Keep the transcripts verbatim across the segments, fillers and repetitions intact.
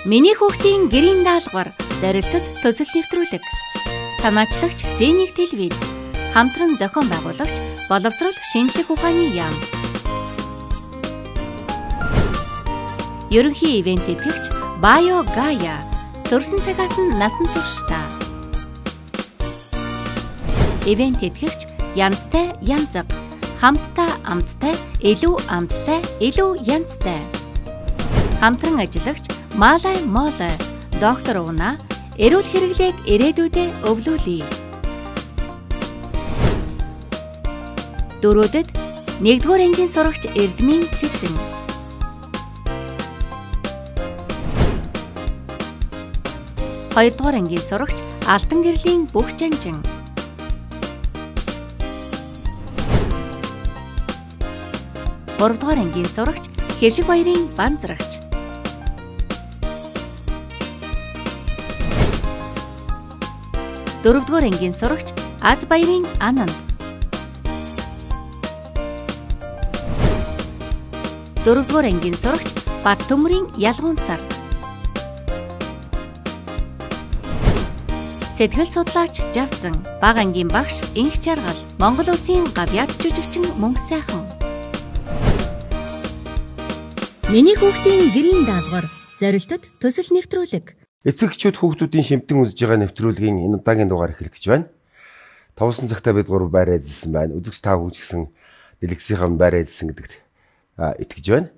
Миний хүүхдийн гэрийн даалгавар зорилтод төсөл нэвтрүүлэг. Санаачлагч Зэник телевиз. Хамтран зохион байгуулагч боловсрол шинжлэх ухааны яам. Ерөнхий ивент этгэгч Bio Gaia. Төрсөн цагаас нь насан туршдаа. Ивент этгэгч Янзтай Янзаг. Хамтдаа амттай, илүү амттай, илүү янзтай. Хамтран ажиллагч Малай Молой. Доктор Уна. Эрүүл хэрэглээг ирээдүйдээ өвлүүлье. Дөрөвдөд нэгдүгээр ангийн сурагч Эрдмийн Цэцэн. Хоёрдугаар ангийн сурагч Алтан гэрлийн Бүх Жанжин. Гуравдугаар ангийн сурагч Хэшиг баярын Банзрагч. Дөрөвдүгээр ангийн сурагч Аз баярын Ананд. Дөрөвдүгээр ангийн сурагч Бат төмрийн Ялгуун сар. Сэтгэл судлаач Жавцан, бага ангийн багш Инх Жаргал, Монгол улсын гавьяат жүжигчин Мөнх сайхан. Миний хүүхдийн гэрийн даалгавар зорилтод төсөл нэвтрүүлэг. Эцэгчүүд хүүхдүүдийн шимтэн үзэж байгаа нэвтрүүлгийн энэ удаагийн дугаар эхлэх гэж байна. Товсон цагтаа бид гурав байр эзэлсэн байна. Үзэгч тав хүн ч гэсэн дэлгэцийнхаа байр эзэлсэн гэдэгт итгэж байна.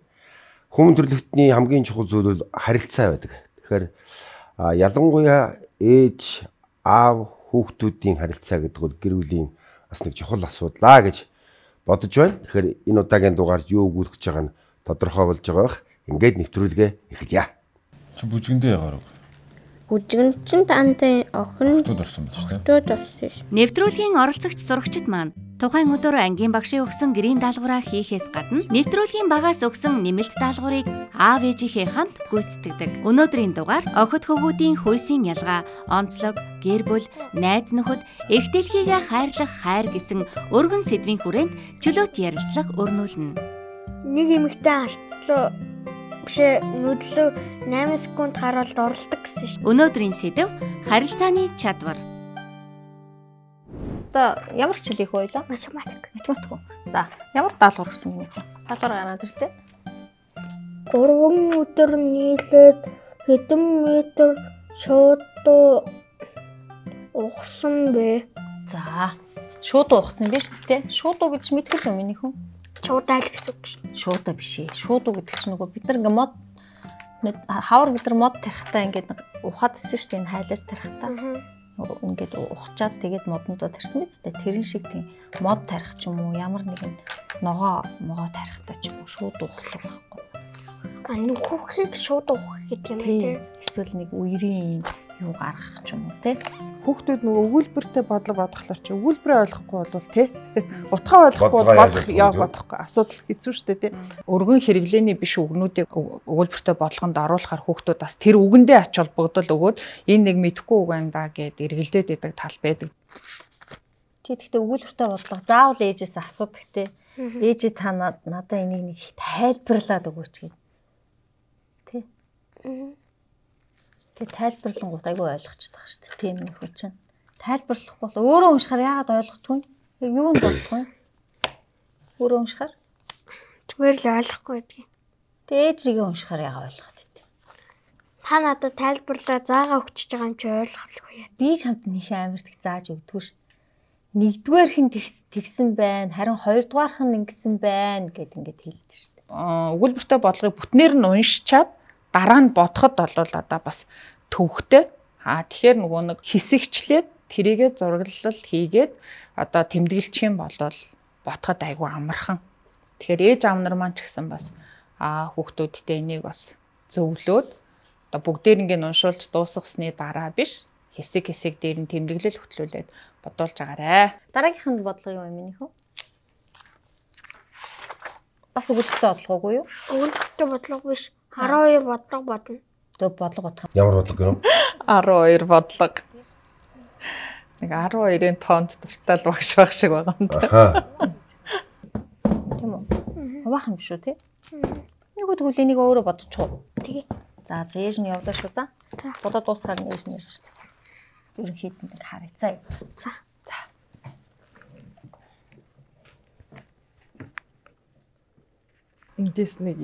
Хүмүүн төрлөختний хамгийн чухал зүйл бол харилцаа байдаг. Тэгэхээр ялангуяа ээж, аав, хүүхдүүдийн харилцаа гэдэг бол гэр бүлийн бас нэг чухал асуудал гэж бодож байна. Тэгэхээр энэ удаагийн дугаард юу өгүүлэх гэж байгаа нь тодорхой болж байгаа бах. Ингээд нэвтрүүлгээ эхэлье. Чи бүжгэндээ ягаар вэ? Бүжгэнд чинь тантай охин Хотод орсон байж тээ. Хотод орсон ш. Нэвтрүүлгийн оролцогч сурагчид маань тухайн өдөр ангийн багшийн өгсөн гэрийн даалгавраа хийхээс гадна нэвтрүүлгийн багаас өгсөн нэмэлт даалгаврыг аав ээжийнхээ хамт гүйцэтгэдэг. Өнөөдрийн дугаарт охид хөвгүүдийн хүйсийн ялгаа, онцлог, гэр бүл, найз нөхөд, эх дэлхийгээ хайрлах хайр гэсэн өргөн сэдвийн хүрээнд чөлөөт ярилцлага өрнүүлнэ. Нэг эмэгтэй харцлуу бишээ нүдлөө найман секунд харуулд оролдог гэсэн ш. Өнөөдрийн сэдэв харилцааны чадвар. Одоо ямар хичээл их байлаа? Математик. Математик уу? За, ямар даалгавар өгсөн юм бэ? Даалгавар гараад иртээ. гурван өдөр нийлээд хэдэн метр шуудуу ухсан бэ? За, шуудуу ухсан биз дээ. Шуудуу гэж мэдгүй юм миний хүн. Шуудаа л гэсэн үг ш. Шуудаа биш ээ. Шуудуу гэдэг чинь нөгөө бид нар ингээ мод хавар бид нар мод тарихтаа ингээд ухаад исэн шүү дээ энэ хайлаас тарихтаа. Ингээд ухчаад тэгээд модондоо тарьсан биз дээ. Тэрэн шиг тийм мод тарих ч юм уу ямар нэгэн ногоо могоо тарихтаа ч юм уу шууд ухлах байхгүй. А нүхийг шууд ухах гэдэг юм тий. Эсвэл нэг үерийн юу гаргах ч юм уу тий. Хүүхдүүд нөгөө өгүүлбэртэй бодлого бодглохлоор чи өгүүлбэрээ ойлгохгүй бол тий. Утгаа ойлгохгүй бол бодох яа бодохгүй асуудал хэцүү шүү дээ тий. Өргөн хэрэглээний биш үгнүүдийг өгүүлбэртэй бодлогонд оруулахаар хүүхдүүд бас тэр үгэндээ ач холбогдол өгөөд энэ нэг мэдхгүй үг байна да гэд эргэлдээд идэг тал байдаг. Чи тэгтээ өгүүлбэртэй бодлого заавал ээжээс асуудаг тий. Ээжээ та надад энийг нэг тайлбарлаад өгөөч гэв. Тий. Тэг тайлбарлангууд айгүй ойлгочтой шүү дээ. Тийм нэг хүн чинь. Тайлбарлахгүй бол өөрөө уншихаар яагаад ойлгохгүй вэ? Яг юунд бодохгүй вэ? Өөрөө уншихаар Зүгээр л ойлгохгүй байдаг. Тэг ээжрийгээ уншихаар яагаад ойлгоод идэв? Та надад тайлбарлаа заагаа өгчөж байгаа юм чи ойлгохгүй яа. Би чамд нэг амар их зааж өгдөггүй ш. Нэгдүгээрх нь тэгсэн байна, харин хоёрдугаарх нь ингэсэн байна гэд ингээд хэлдэг ш. Аа өгүүлбэртэй бодлогыг бүтнээр нь уншичаад дараа нь бодоход бол одоо бас төвхтэй. Аа тэгэхээр нөгөө нэг хэсэгчлээд тэрийгэ зураглал хийгээд одоо тэмдэглэж юм бол ботход айгүй амархан. Тэгэхээр ээж аав нар маань ч гэсэн бас аа хүүхдүүдтэй энийг бас зөвлөөд одоо бүгдээр ингэ уншуулж дуусгасны дараа биш хэсэг хэсэг дээр нь тэмдэглэл хөтлүүлээд бодуулж агаарэ. Дараагийнх нь бодлого юу юм минийх үү? Бас өгүүлбэртэй бодлого уу юу? Өгүүлбэртэй бодлого биш. арван хоёр бодлого бодно. Тэг бодлого бодох. Ямар бодлого гэнэ? арван хоёр бодлого. Нэг арван хоёрын тоонд дуртай л багш байх шиг байгаа юм да. Тийм үү? Хаваахан биш үү те? Нэг үгүй тэгвэл энийг өөрөө бодчихоо. Тэгээ. За зээж нь явдаг шүү за. За. Будаа дуусгаар нь ээж нэрш. Ерөнхийдөө нэг харъцаа. За. За. Эндээс нэг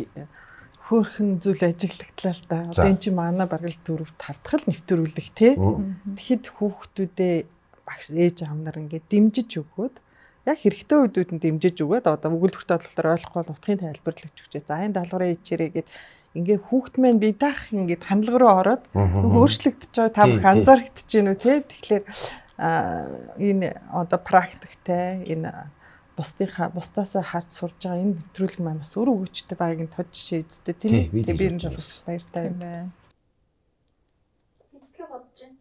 хөөхөн зүйл ажиглагдлаа л да. Одоо эн чинь манай баргал дөрөв тав дахь л нэвтрүүлэг тий. Тэгэхэд хүүхдүүдээ багш ээж аав нар ингээд дэмжиж өгөөд яг хэрэгтэй үедүүд нь дэмжиж өгөөд одоо өгүүлбэрт бодлоор ойлгохгүй бол утгын тайлбарлаж өгчээ. За энэ даалгавраа ичээрээ гэд ингээ хүүхд маань би даах ингээд хандлага руу ороод өөрчлөгдөж байгаа та бүх анзаарэгдэж гинүү те. Тэгэхээр энэ одоо практиктэй энэ бусдынхаа бусдаас харж сурж байгаа энэ нэвтрүүлэг маань бас өөр өгөөчтэй байгааг нь тод жишээ үзтээ тийм ээ. Тэгээ би энэ бас баяртай юм байна. Мэдгээ бодож байна.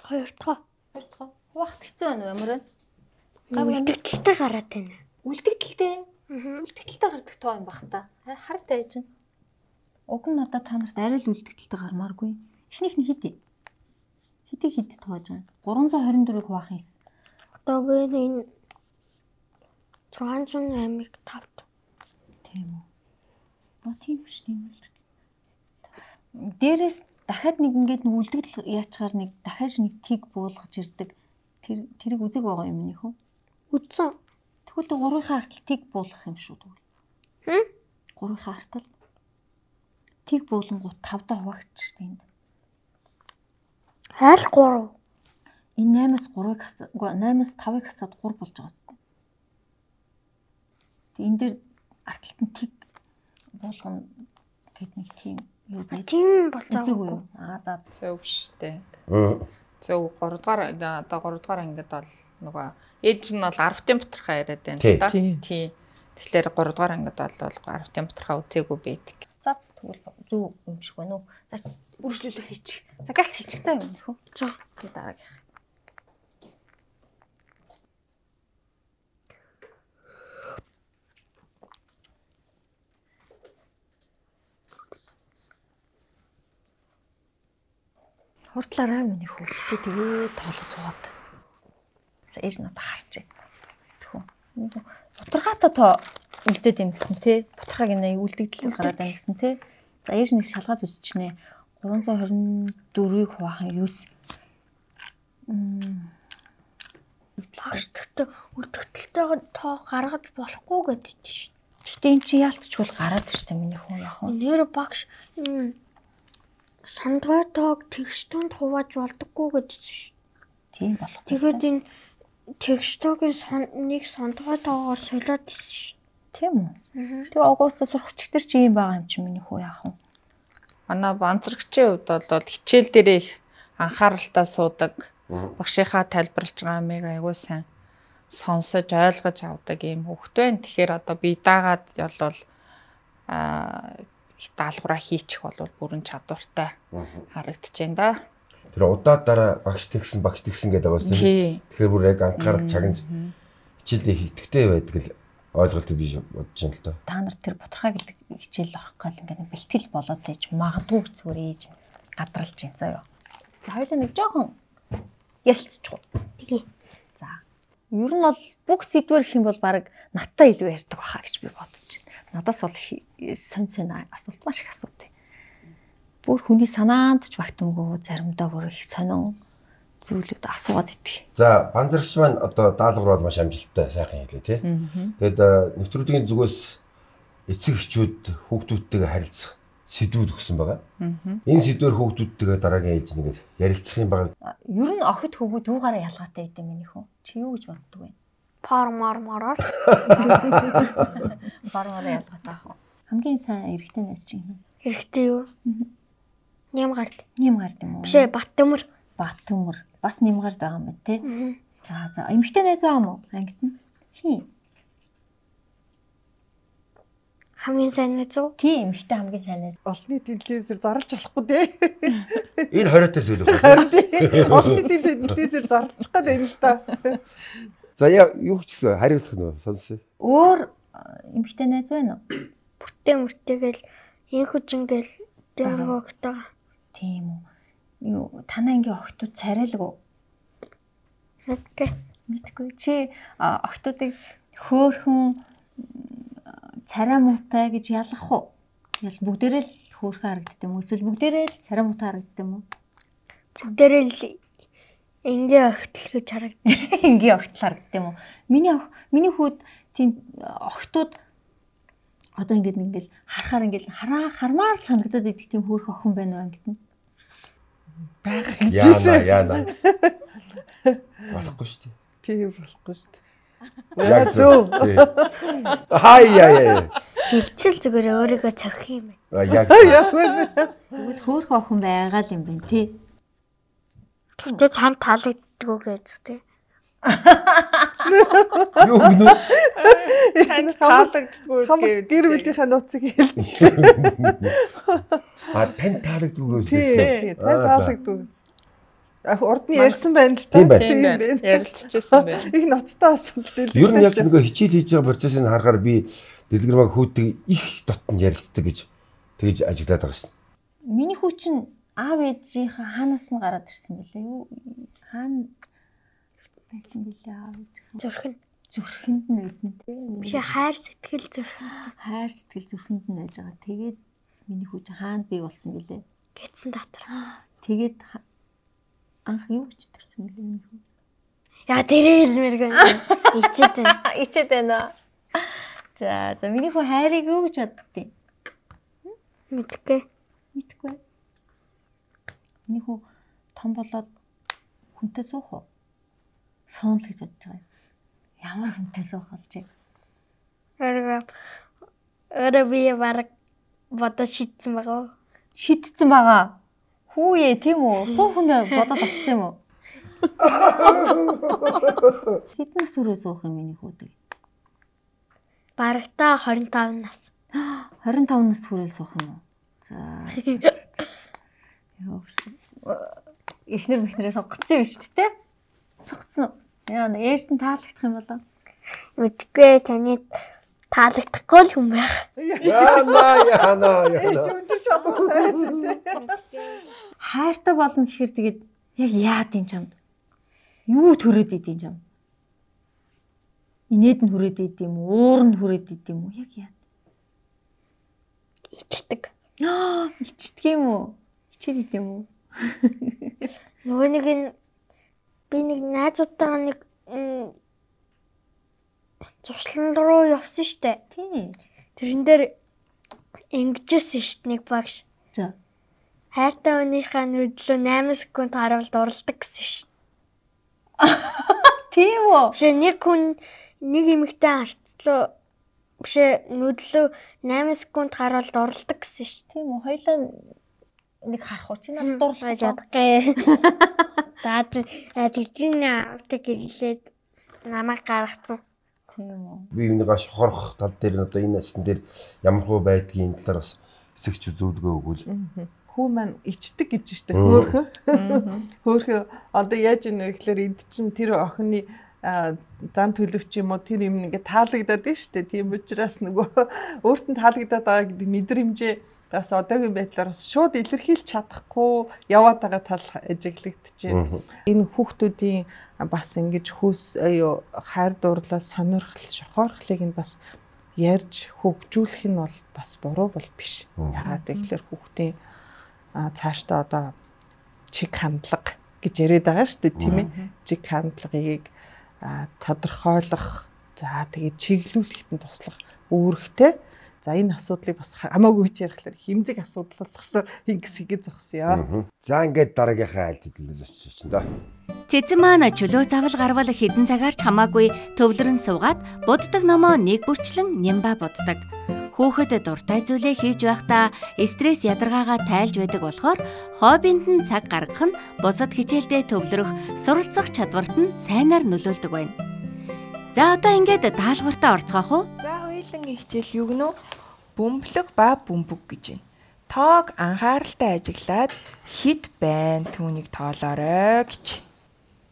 Хоёр дахь. Хоёр дахь. Хуваахт хэцүү байна уу ямар вэ? Үлдэгдэлтэй гараад байна. Үлдэгдэлтэй. Үлдэгдэлтэй гардаг тоо юм бах та. Хартай ээж. Уг нь одоо та нарт арай л үлдэгдэлтэй гармааргүй. Эхнийх нь хитэ. Хитэ хитэ тоож байгаа. гурван зуун хорин дөрвийг хуваах юм. Одоо би энэ зургаан зуун аймаг тавд. Тийм үү. Оо тийм биш тийм үү. Дээрээс дахиад нэг ингээд нэг үлдэгдэл яачаар нэг дахиад нэг тиг буулгаж ирдэг. Тэр тэрийг үзег байгаа юм нэх үү? Үзсэн. Тэгвэл гурвынхаа артал тиг буулгах юм шүү дээ. Хм? Гурвынхаа артал тиг буулангууд тавдаа хуваагдчих штэ энд. Хайл гурав. Энэ наймаас гурвыг хасаад, үгүй наймаас тавыг хасаад гур болж байгаа штэ. Тэг энэ дээр арталт нь тиг буулгана гэд нэг тийм юу байд. Тийм болцоо. Үзээгүй юу? Аа за Зөв штэ. Аа. Зөв гурав дахь одоо гурав дахь ангид бол нөгөө ээж нь бол арвтын бутрахаа яриад байна л да. Тий. Тэгэхээр гурав дахь ангид бол арвтын бутрахаа үзээгүй байдаг. За тэгвэл зөв юм шиг байна уу? За үргэлжлүүлээ хийчих. За галс хийчих цаа юм нөхөө. За. Тэгээ дараагийнх. Хурдлаараа миний хөвгөлтэй тэгээ тоолоо суугаад. За ээж надад харчээ. Тэхүү. Бутаргаатай тоо үлдээд юм гэсэн те. Бутаргааг энэ үлдэгдэл гараад байна гэсэн те. За ээж нэг шалгаад үсчихнэ. гурван зуун хорин дөрвийг хуваахан юус. Мм. Багш тэгтээ үлдэгдэлтэйг тоо гаргаж болохгүй гэдэг чинь. Гэтэ эн чи яалтчгүй гараад штэ миний хүн яг нь. Нэр багш сандгой тоог тэгштөнд хувааж болдоггүй гэдэг чинь. Тийм болох. Тэгээд энэ тэгштөгийн нэг сандгой тоогоор солиод ирсэн шүү. Тийм үү? Тэгээ огоосоо сурахч нар чи юм байгаа юм чи миний хүү яах вэ? Манай банцрагчийн хувьд бол хичээл дээрээ их анхааралтай суудаг. Багшийнхаа тайлбарлаж байгаа юмыг айгүй сайн сонсож ойлгож авдаг юм хөвгтэй байна. Тэгэхээр одоо би даагаад болвол аа даалгавраа хийчих бол бүрэн чадвартай харагдаж байна да. Тэр удаад дараа багш тэгсэн багш тэгсэн гэдэг байгаа шүү дээ. Тэгэхээр бүр яг анхаарал чагнаж хичээлээ хийдэгтэй байдаг л ойлголт биш бодож байна л доо. Та нар тэр бутархаа гэдэг хичээл орох гал ингээд бэлтгэл болоод лээж магадгүй зүгээр ээж гадралж байна заяа. За хоёулаа нэг жоохон ярилцчихв. Тэгээ. За. Ер нь бол бүх сэдвэр их юм бол баг надтай илүү ярьдаг баха гэж би бодож байна. Надаас бол сон сон асуулт маш их асуудаг. Бүр хүний санаанд ч багтамгүй заримдаа бүр их сонин зүйлүүд асуугаад идэх. За, банзрагч маань одоо даалгавар бол маш амжилттай сайхан хэлээ тий. Тэгээд нэвтрүүлгийн зүгээс эцэг эхчүүд хүүхдүүдтэйгээ харилцах сэдвүүд өгсөн байгаа. Энэ сэдвэр хүүхдүүдтэйгээ дараагийн ээлж нэгээр ярилцах юм байгаа. Ер нь охид хөвгүүд юугаараа ялгаатай идэв миний хүн. Чи юу гэж боддог вэ? Пармар мараар. Пармараа ялгаатай ах. Хамгийн сайн эрэгтэй найз чи юм. Хэрэгтэй юу? Нэм гард. Нэм гард юм уу? Биш ээ, Баттөмөр. Баттөмөр. Бас нэм гард байгаа юм байна те. За за эмэгтэй найз байгаа юм уу? Ангид нь. Хий. Хамгийн сайн найз уу? Тийм, эмэгтэй хамгийн сайн найз. Олонний телевизээр зарлж болохгүй дээ. Энэ хориотой зүйл байна. Олонний телевизээр зарлах гэдэг юм л та. За яа юу ч гэсэн хариулах нь сонсъё. Өөр эмэгтэй найз байна уу? Бүртээ мөртэйгээл инхүж ингээл дэргөгтэй. Тийм үү. Юу танаа ингээ охтууд царайлаг уу? Мэдгүй. Мэдгүй. Чи охтуудыг хөөхөн царай муутай гэж ялгах уу? Ял бүгдээрээ л хөөрхөн харагддаг юм уу? Эсвэл бүгдээрээ л царай муутай харагддаг юм уу? Бүгдээрээ л энгийн огтл гэж харагддаг. Энгийн огтл харагддаг юм уу? Миний миний хүүд тийм огтуд одоо ингэж ингээл харахаар ингээл хараа хармаар санагдаад идэх тийм хөөрхөн охин байна уу ингэтэн. Байх гэж Яана яана. Болохгүй шүү дээ. Тийм болохгүй шүү дээ. Яг зөв. Хай яа яа. Хилчил зүгээр өөрийгөө цохих юм байна. Яг. Тэгвэл хөөрхөн охин байгаа л юм байна тий. Гэтэ цаан таалагддаг уу гэж тий. Юу гэнэ? Танд таалагддаггүй Хамаг гэр бүлийнхээ нууцыг хэл. А тань таалагддаггүй Тийм, тань таалагддаг. Яг урд нь ярьсан байна л та. Тийм байна. Тийм байна. Ярилцчихсан байна. Их ноцтой асуудал дээр. Ер нь яг нөгөө хичээл хийж байгаа процессыг харахаар би дэлгэрмаг хүүтэй их дотн ярилцдаг гэж тэгж ажиглаад байгаа шин. Миний хүү чинь аав ээжийнхээ хаанаас нь гараад ирсэн бэлээ юу? Хаана байсан бэлээ аав ээж? Зүрхэн. Зүрхэнд нь байсан тий. Биш хайр сэтгэл зүрхэн. Хайр сэтгэл зүрхэнд нь байж байгаа. Тэгээд миний хүү чинь хаанд бий болсон бэлээ. Гэтсэн дотор. Тэгээд анх юу гэж төрсөн бэлээ миний хүү? Яа тэрээ хэлмээр гэнэ. Ичээд байна. Ичээд байна. За за миний хүү хайрыг юу гэж боддیں۔ Мэдгүй. Мэдгүй. Миний хүү том болоод хүнтэй суух уу? Соонл гэж бодож байгаа юм. Ямар хүнтэй суух болж байна? Өөрөө өөрөө би баг бодож шийдсэн байгаа. Шийдсэн байгаа. Хүүе тийм үү? Суух хүнээ бодоод болцсон юм уу? Хэдэн сүрээ суух юм миний хүү дээ? Барагтаа двадцать пять нас. двадцать пять нас хүрээл суух юм уу? За. Яа. Эхнэр мэхнэрээ сонгоцсон юм шүү дээ. Сонгоцсон уу? Яа, ээж нь таалагдах юм болоо. Мэдгүй таны таалагдахгүй л хүн байх. Яана яана яана. Өндөр шалгуулсан. Хайртай болно гэхээр тэгээд яг яад юм чамд? Юу төрөөд идэв чам? Инээд нь хүрээд идэв юм уу? Уур нь хүрээд идэв юм уу? Яг яад? Ичдэг. Аа, ичдэг юм уу? Ичээд идэв юм уу? Нөгөө нэг нь би нэг найзуудтайгаа нэг зуршлан руу явсан штэ. Тийм. Тэрэн дээр ингэжсэн штэ нэг багш. За. Хайртай өнийхөө нүдлөө восемь секунд харуул дурладаг гэсэн штэ. Тийм үү? Биш нэг хүн нэг эмэгтэй харцлаа биш нүдлөө восемь секунд харуул дурладаг гэсэн штэ. Тийм үү? Хоёлаа нэг харах уу чи надад дурлаж ядахгүй. Даад тэгжин авдаг гэлээд намайг гаргацсан. Тийм үү? Би энийгээ шохорох тал дээр нь одоо энэ насн дээр ямар хөө байдгийн талаар бас эцэгч зөвлөгөө өгвөл. Хүү маань ичдэг гэж штэ хөөхөө. Хөөхөө одоо яаж ийнэ гэхээр энд чинь тэр охины зан төлөвч юм уу тэр юм ингээ таалагдаад нь штэ. Тийм учраас нөгөө өөрт нь таалагдаад байгаа гэдэг мэдрэмжээ бас одоогийн байдлаар бас шууд илэрхийлж чадахгүй яваад байгаа тал ажиглагдчихэв. Энэ хүүхдүүдийн бас ингэж хөөс аюу хайр дурлал сонирхол шохоорхлыг нь бас ярьж хөгжүүлэх нь бол бас буруу бол биш. Яагаад гэвэл хүүхдийн цаашдаа одоо чиг хандлага гэж яриад байгаа шүү дээ тийм ээ. Чиг хандлагыг тодорхойлох за тэгээд чиглүүлэхэд нь туслах үүрэгтэй. За энэ асуудлыг бас хамаагүй ч ярихлаар хэмжиг асуудал болохоор ингэс хийгээ зогсъё. За ингээд дараагийнхаа айлд хэлэлцэж очино да. Цэцэн маань чөлөө завл гарвал хэдэн цагаарч хамаагүй төвлөрөн суугаад буддаг номоо нэг бүрчлэн нямба буддаг. Хүүхэд дуртай зүйлээ хийж байхдаа стресс ядаргаагаа тайлж байдаг болохоор хоббинд нь цаг гаргах нь бусад хичээлдээ төвлөрөх, суралцах чадварт нь сайнаар нөлөөлдөг байна. За одоо ингээд даалгавартаа орцгоох уу? За хоёулангийн хичээл юу гэнэ үү? Бөмбөлөг ба бөмбөг гэж байна. Тоог анхааралтай ажиглаад хэд байна түүнийг тоолоорой гэж.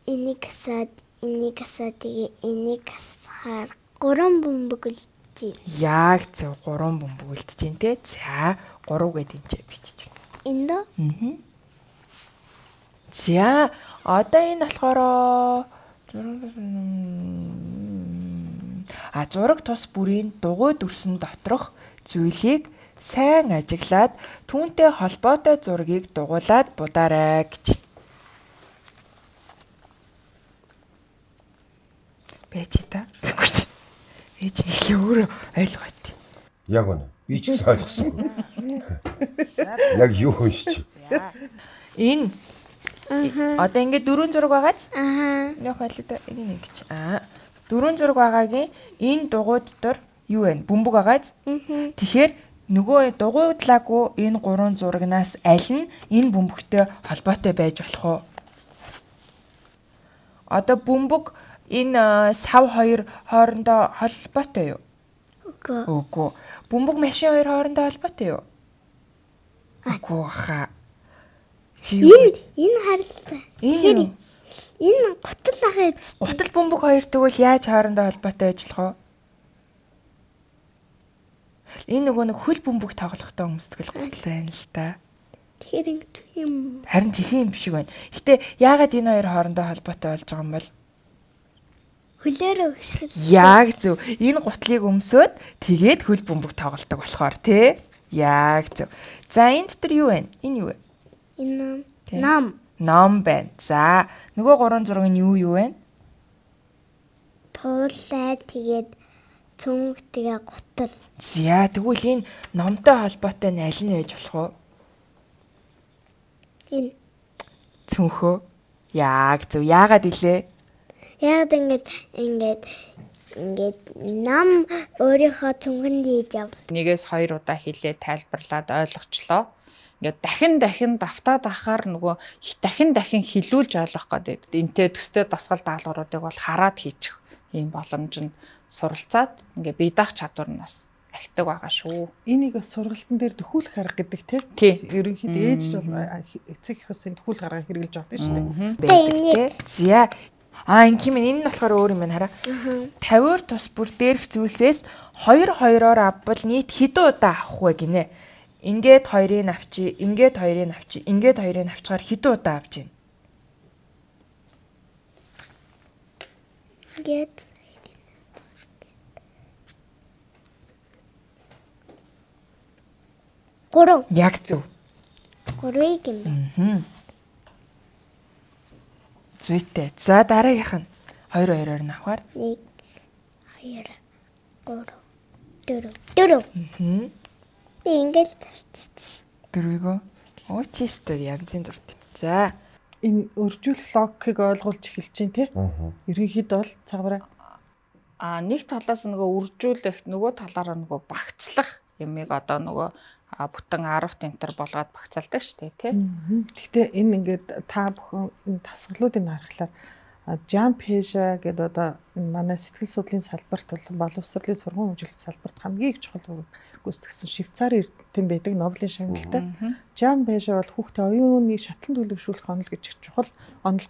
Энийг асаад, энийг асаад тэгээ энийг асахаар гурван бөмбөг л тийм. Яг зөв гурван бөмбөг үлдэж байна те. За гурав гэдэг энэ ч бичиж байна. Энд дөө? Аа. За одоо энэ болохоор а зураг тус бүрийн дугуй дүрсэн доторх зүйлийг сайн ажиглаад түүнтэй холбоотой зургийг дугуулад будаарай гэж. Бэж та. Ээж нэглээ өөрөө ойлгоод. Яг үнэ. Би ч гэсэн ойлгосон. Яг юу уншиж. Энэ одоо ингээд дөрвөн зураг байгааз. Аа. Нөх хайлтаа энэ нэг гэж. Аа. Дөрвөн зураг байгаагийн энэ дугуй дотор юу вэ? Бөмбөг байгааз. Тэгэхээр нөгөө дугуйдлаагүй энэ гурван зурагнаас аль нь энэ бөмбөгтэй холбоотой байж болох вэ? Одоо бөмбөг энэ сав хоёр хоорондоо холбоотой юу? Үгүй. Үгүй. Бөмбөг машин хоёр хоорондоо холбоотой юу? Үгүй хаа. Энэ энэ харилтай. Энэ энэ гутал ахаа. гутал бөмбөг хоёр тэгвэл яаж хоорондоо холбоотой ажиллах вэ? Энэ нөгөө нэг хөл бөмбөг тоглохтой өмсдгөл гутал байна л та. Тэгэхээр ингэдэг юм. Харин тийм юм шиг байна. Гэтэ яагаад энэ хоёр хоорондоо холбоотой болж байгаа юм бол? Хөлөөрөө өсгөл. Яг зөв. Энэ гутлыг өмсөөд тэгээд хөл бөмбөг тоглолдог болохоор тий. Яг зөв. За энэ дотор юу вэ? Энэ юу вэ? Энэ нам. Ном байна. За нөгөө гурван зураг нь юу юу вэ? Туулаа тэгээд цүнх тэгээ гутал. За тэгвэл энэ номтой холбоотой нь аль нь байж болох вэ? Энэ Цүнхөө. Яг зөв. Яагаад илээ? яг ингэж ингэж ингэж нам өөрийнхөө цүнхэнд хийж ав. Нэгээс хоёр удаа хэлээ тайлбарлаад ойлгочлоо. Ингээд дахин дахин давтаад ахаар нөгөө дахин дахин хилүүлж ойлгох гэдэг. Энтэй төстэй дасгал даалгавруудыг бол хараад хийчих ийм боломжинд суралцаад ингээд бие даах чадвар нь бас ахдаг байгаа шүү. Энийг бас сургалтын дээр төхүүлэх арга гэдэг тий. Тий. Ерөнхийдөө ээж бол эцэг их усын төхүүлэх арга хэрэгжилж байгаа шүү дээ. Байдаг. За а энэ юм энэ нь болохоор өөр юм байна хараа. тавиар тус бүр дээрх зүйлсээс хоёр хоёроор авбал нийт хэдэн удаа авах вэ гинэ? Ингээд хоёрыг авчи, ингээд хоёрыг авчи, ингээд хоёрыг авчгаар хэдэн удаа авч гин? Ингээд гурав. Яг зөв. Гурвыг юм байна. Зүйтэй. За дараагийнх нь хоёр хоёроор нь авахаар. Нэг, хоёр, гурав, дөрөв. Дөрөв. Хм. Би ингээд Дөрвийгөө. Оо чистер янзын зурд юм. За. Энэ өржүүлэх логикийг ойлгуулж эхэлж чинь тий. Ерөнхийдөө бол цагаараа А нэг талаас нөгөө үржүүлэх, нөгөө талаараа нөгөө багцлах юмыг одоо нөгөө бүтэн арав тэмтэр болгоод багцалдаг шүү дээ тий. Гэхдээ энэ ингээд та бүхэн энэ тасгалуудыг харахаар Jump Asia гэдэг одоо энэ манай сэтгэл судлалын салбарт бол боловсролын сургууль хөгжүүлэлт салбарт хамгийн их чухал гүйцэтгэсэн Швейцарын эрдэмтэн байдаг Нобелийн шагналтай. Jump Asia бол хүүхдээ оюуны шатлан төлөвшүүлэх онол гэж чухал онол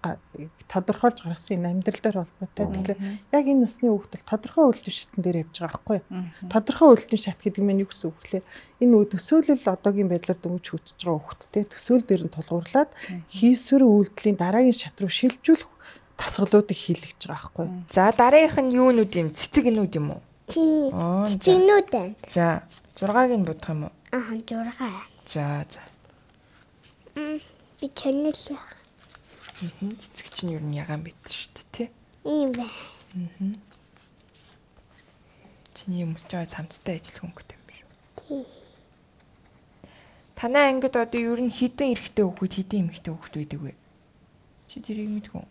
тодорхойлж гаргасан энэ амьдрал дээр холбоотой. Тэгэхээр яг энэ насны хүүхд бол тодорхой үйлдэл шатн дээр явж байгаа байхгүй юу? Тодорхой үйлдэл шат гэдэг нь юу гэсэн үг вэ? Энэ нөө төсөөлөл одоогийн байдлаар дөнгөж хүчж байгаа хүүхдтэй төсөөл дээр нь тулгуурлаад хийсвэр үйлдэлийн дараагийн шат руу шилжүүлэх тасгалуудыг хийлгэж байгаа байхгүй юу? За дараагийнх нь юунууд юм? Цэцэг нүүд юм уу? тий. Аа. Цэцэгнүүд байна. За зургааг нь бодох юм уу? Аа зургаа. За за. М би чанэл яа. Мм цэцэг чинь юу н ягаан байд шүү дээ тий. Ийм байна. Аа. Чиний өмсөж байгаа цамцтай ажил хөнгөтэй юм биш үү? Тий. Танай ангид одоо ер нь хідэн эрэгтэй хүүхэд хідэн эмэгтэй хүүхэд байдаг вэ? Чи тэрийг мэдгүй.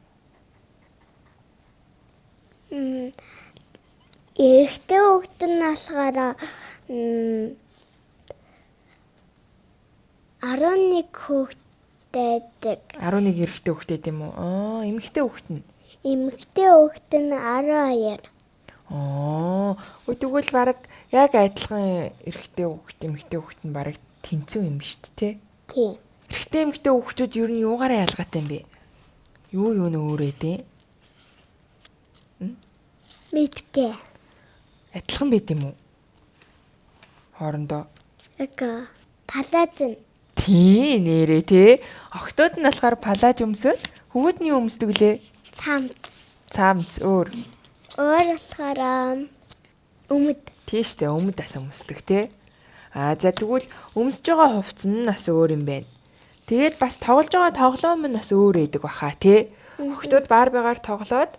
М эрэгтэй хүүхэд нь болохоор арван нэг хүүхэдтэй. арван нэг эрэгтэй хүүхэд юм уу? Аа, эмэгтэй хүүхэд нь. Эмэгтэй хүүхэд нь арван хоёр. Аа, тэгвэл баг яг адилхан эрэгтэй хүүхэд, эмэгтэй хүүхэд нь баг тэнцүү юм шүү дээ, тий? Тий. Эрэгтэй эмэгтэй хүүхдүүд ер нь юугаараа ялгаатай юм бэ? Юу юу нэ өөрөө дээ? Мэдгүй. Адилхан байт юм уу? Хоорондоо. Эка палаз нь. Тий, нэрээ тий. Охтууд нь болохоор палаж өмсөд, хөвгүүдний өмсдөг лээ. Цамц. Цамц өөр. Өөр болохоор өмд. Тий штэ, өмд ас өмсдөг тий. Аа за тэгвэл өмсөж байгаа хувцас нь бас өөр юм байна. Тэгээд бас тоглож байгаа тоглоом нь бас өөр байдаг баха тий. Охтууд Барбигаар тоглоод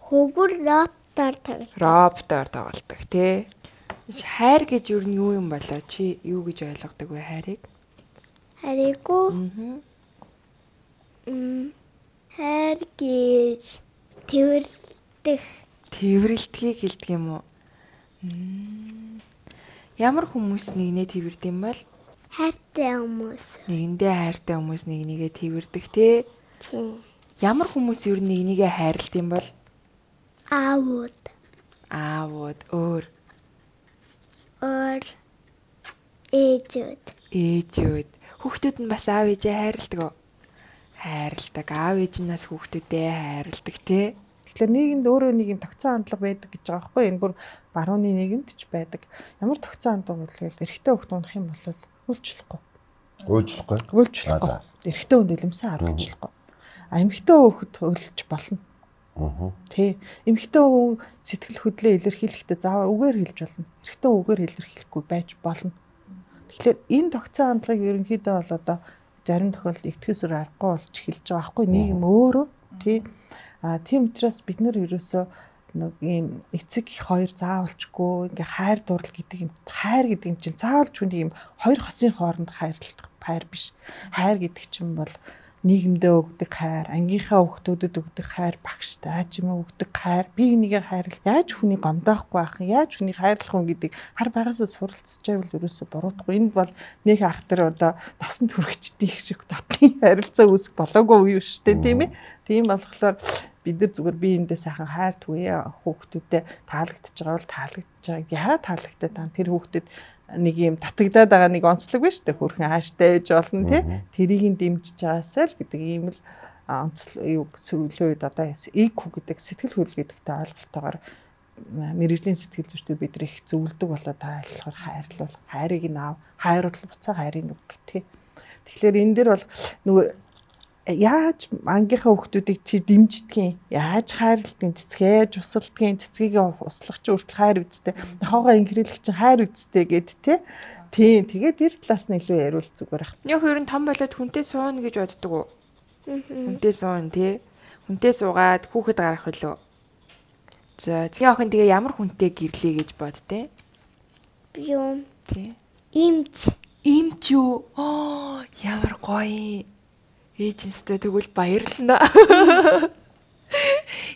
хөвгөр роботоор тоглож. Роботоор тоглодог тий. Хайр гэж юу нь юу юм болоо? Чи юу гэж ойлгодог вэ хайрыг? Хайрыггүй. Аа. Мм. Хайр гэж тэрвэрлдэг. Тэрвэрлдгийг хэлдэг юм уу? Ямар хүмүүс нэгнээ тэрвэрдэг юм бол? Хайртай хүмүүс. Нэгэндээ хайртай хүмүүс нэг нэгээ тэрвэрдэг тий. Тийм. Ямар хүмүүс юу нэг нэгээ хайрлт юм бол? Аавууд. Аавууд өөр. Өөр ээжүүд. Ээжүүд. Хүүхдүүд нь бас аав ээжээ хайрладаг уу? Хайрладаг. Аав ээж нь бас хүүхдүүдээ хайрладаг тий. Тэгэхээр нийгэмд өөрөө нэг юм тогтсон хандлага байдаг гэж байгаа байхгүй. Энэ бүр барууны нийгэмд ч байдаг. Ямар тогтсон хандлага бол эрэгтэй хүүхд унах юм бол үйлчлэхгүй. Үйлчлэхгүй. Үйлчлэхгүй. Эрэгтэй хүнд илэмсэн арга үйлчлэхгүй. А эмэгтэй хүүхд үйлч болно. Аа. Тий. Эмэгтэй хүн сэтгэл хөдлөө илэрхийлэхдээ заавал үгээр хэлж болно. Эрэгтэй үгээр илэрхийлэхгүй байж болно. Тэгэхээр энэ тогтсон хандлагыг ерөнхийдөө бол одоо зарим тохиолдолд эвтгэсээр аргагүй болж эхэлж байгаа байхгүй. Нийгэм өөрөө тий. А тийм учраас бид нэр ерөөсөө нэг ийм эцэг их хоёр заавалчгүй ингээ хайр дурлал гэдэг юм хайр гэдэг юм чинь заавалч хүний юм хоёр хосын хооронд хайрлах хайр биш. Хайр гэдэг чинь бол нийгэмдээ өгдөг хайр, ангийнхаа хүүхдүүдэд өгдөг хайр, багштай чимээ өгдөг хайр, бие бинийгээ хайрлах, яаж хүний гомдоохгүй байх, яаж хүний хайрлах хүн гэдэг хар багасаа суралцж байвал ерөөсөө буруудахгүй. Энэ бол нэг ах тэр одоо насанд хүрэхчдийн их шиг дотны харилцаа үүсэх болоогүй юу шүү дээ, тийм ээ. Тийм болохоор бид нар зүгээр биеиндээ сайхан хайр түгье хүүхдүүдэд таалагдж байгаа бол таалагдж байгаа. Яа таалагдаад байгаа тэр хүүхдэд нэг юм татагдаад байгаа нэг онцлог биш үү? Хөрхэн хааштай ээж болно тий. Тэрийг нь дэмжиж байгаасаа л гэдэг ийм л онцлог юу сөрөглөө үед одоо иг хүү гэдэг сэтгэл хөдлөл гэдэгтэй ойлголтоогоор мэрэгжлийн сэтгэл зүйчдүүд бид их зөвлөдөг болоод байгаа болохоор хайрлал хайрыг нь аав хайруулал буцаа хайрыг нүг тий. Тэгэхээр энэ дэр бол нөгөө яаж ангийнхаа хүүхдүүдийг чи дэмждгийг яаж хайрладгийг цэцгээ жусалдгийг цэцгийг услах чи хүртэл хайр үсттэй нохоогоо инхрийлэх чи хайр үсттэй гэд тэ тийм тэгээд тэр талаас нь илүү яриул зүгээр ах. Яг ер нь том болоод хүнтэй сууна гэж боддог уу? Хүнтэй суун тий. Хүнтэй суугаад хүүхэд гарах үлээ. За цэгийн охин тэгээ ямар хүнтэй гэрлээ гэж боддیں۔ Би юм. Тий. Имч. Имч юу? Оо ямар гоё. Ээжинстэй тэгвэл баярлана.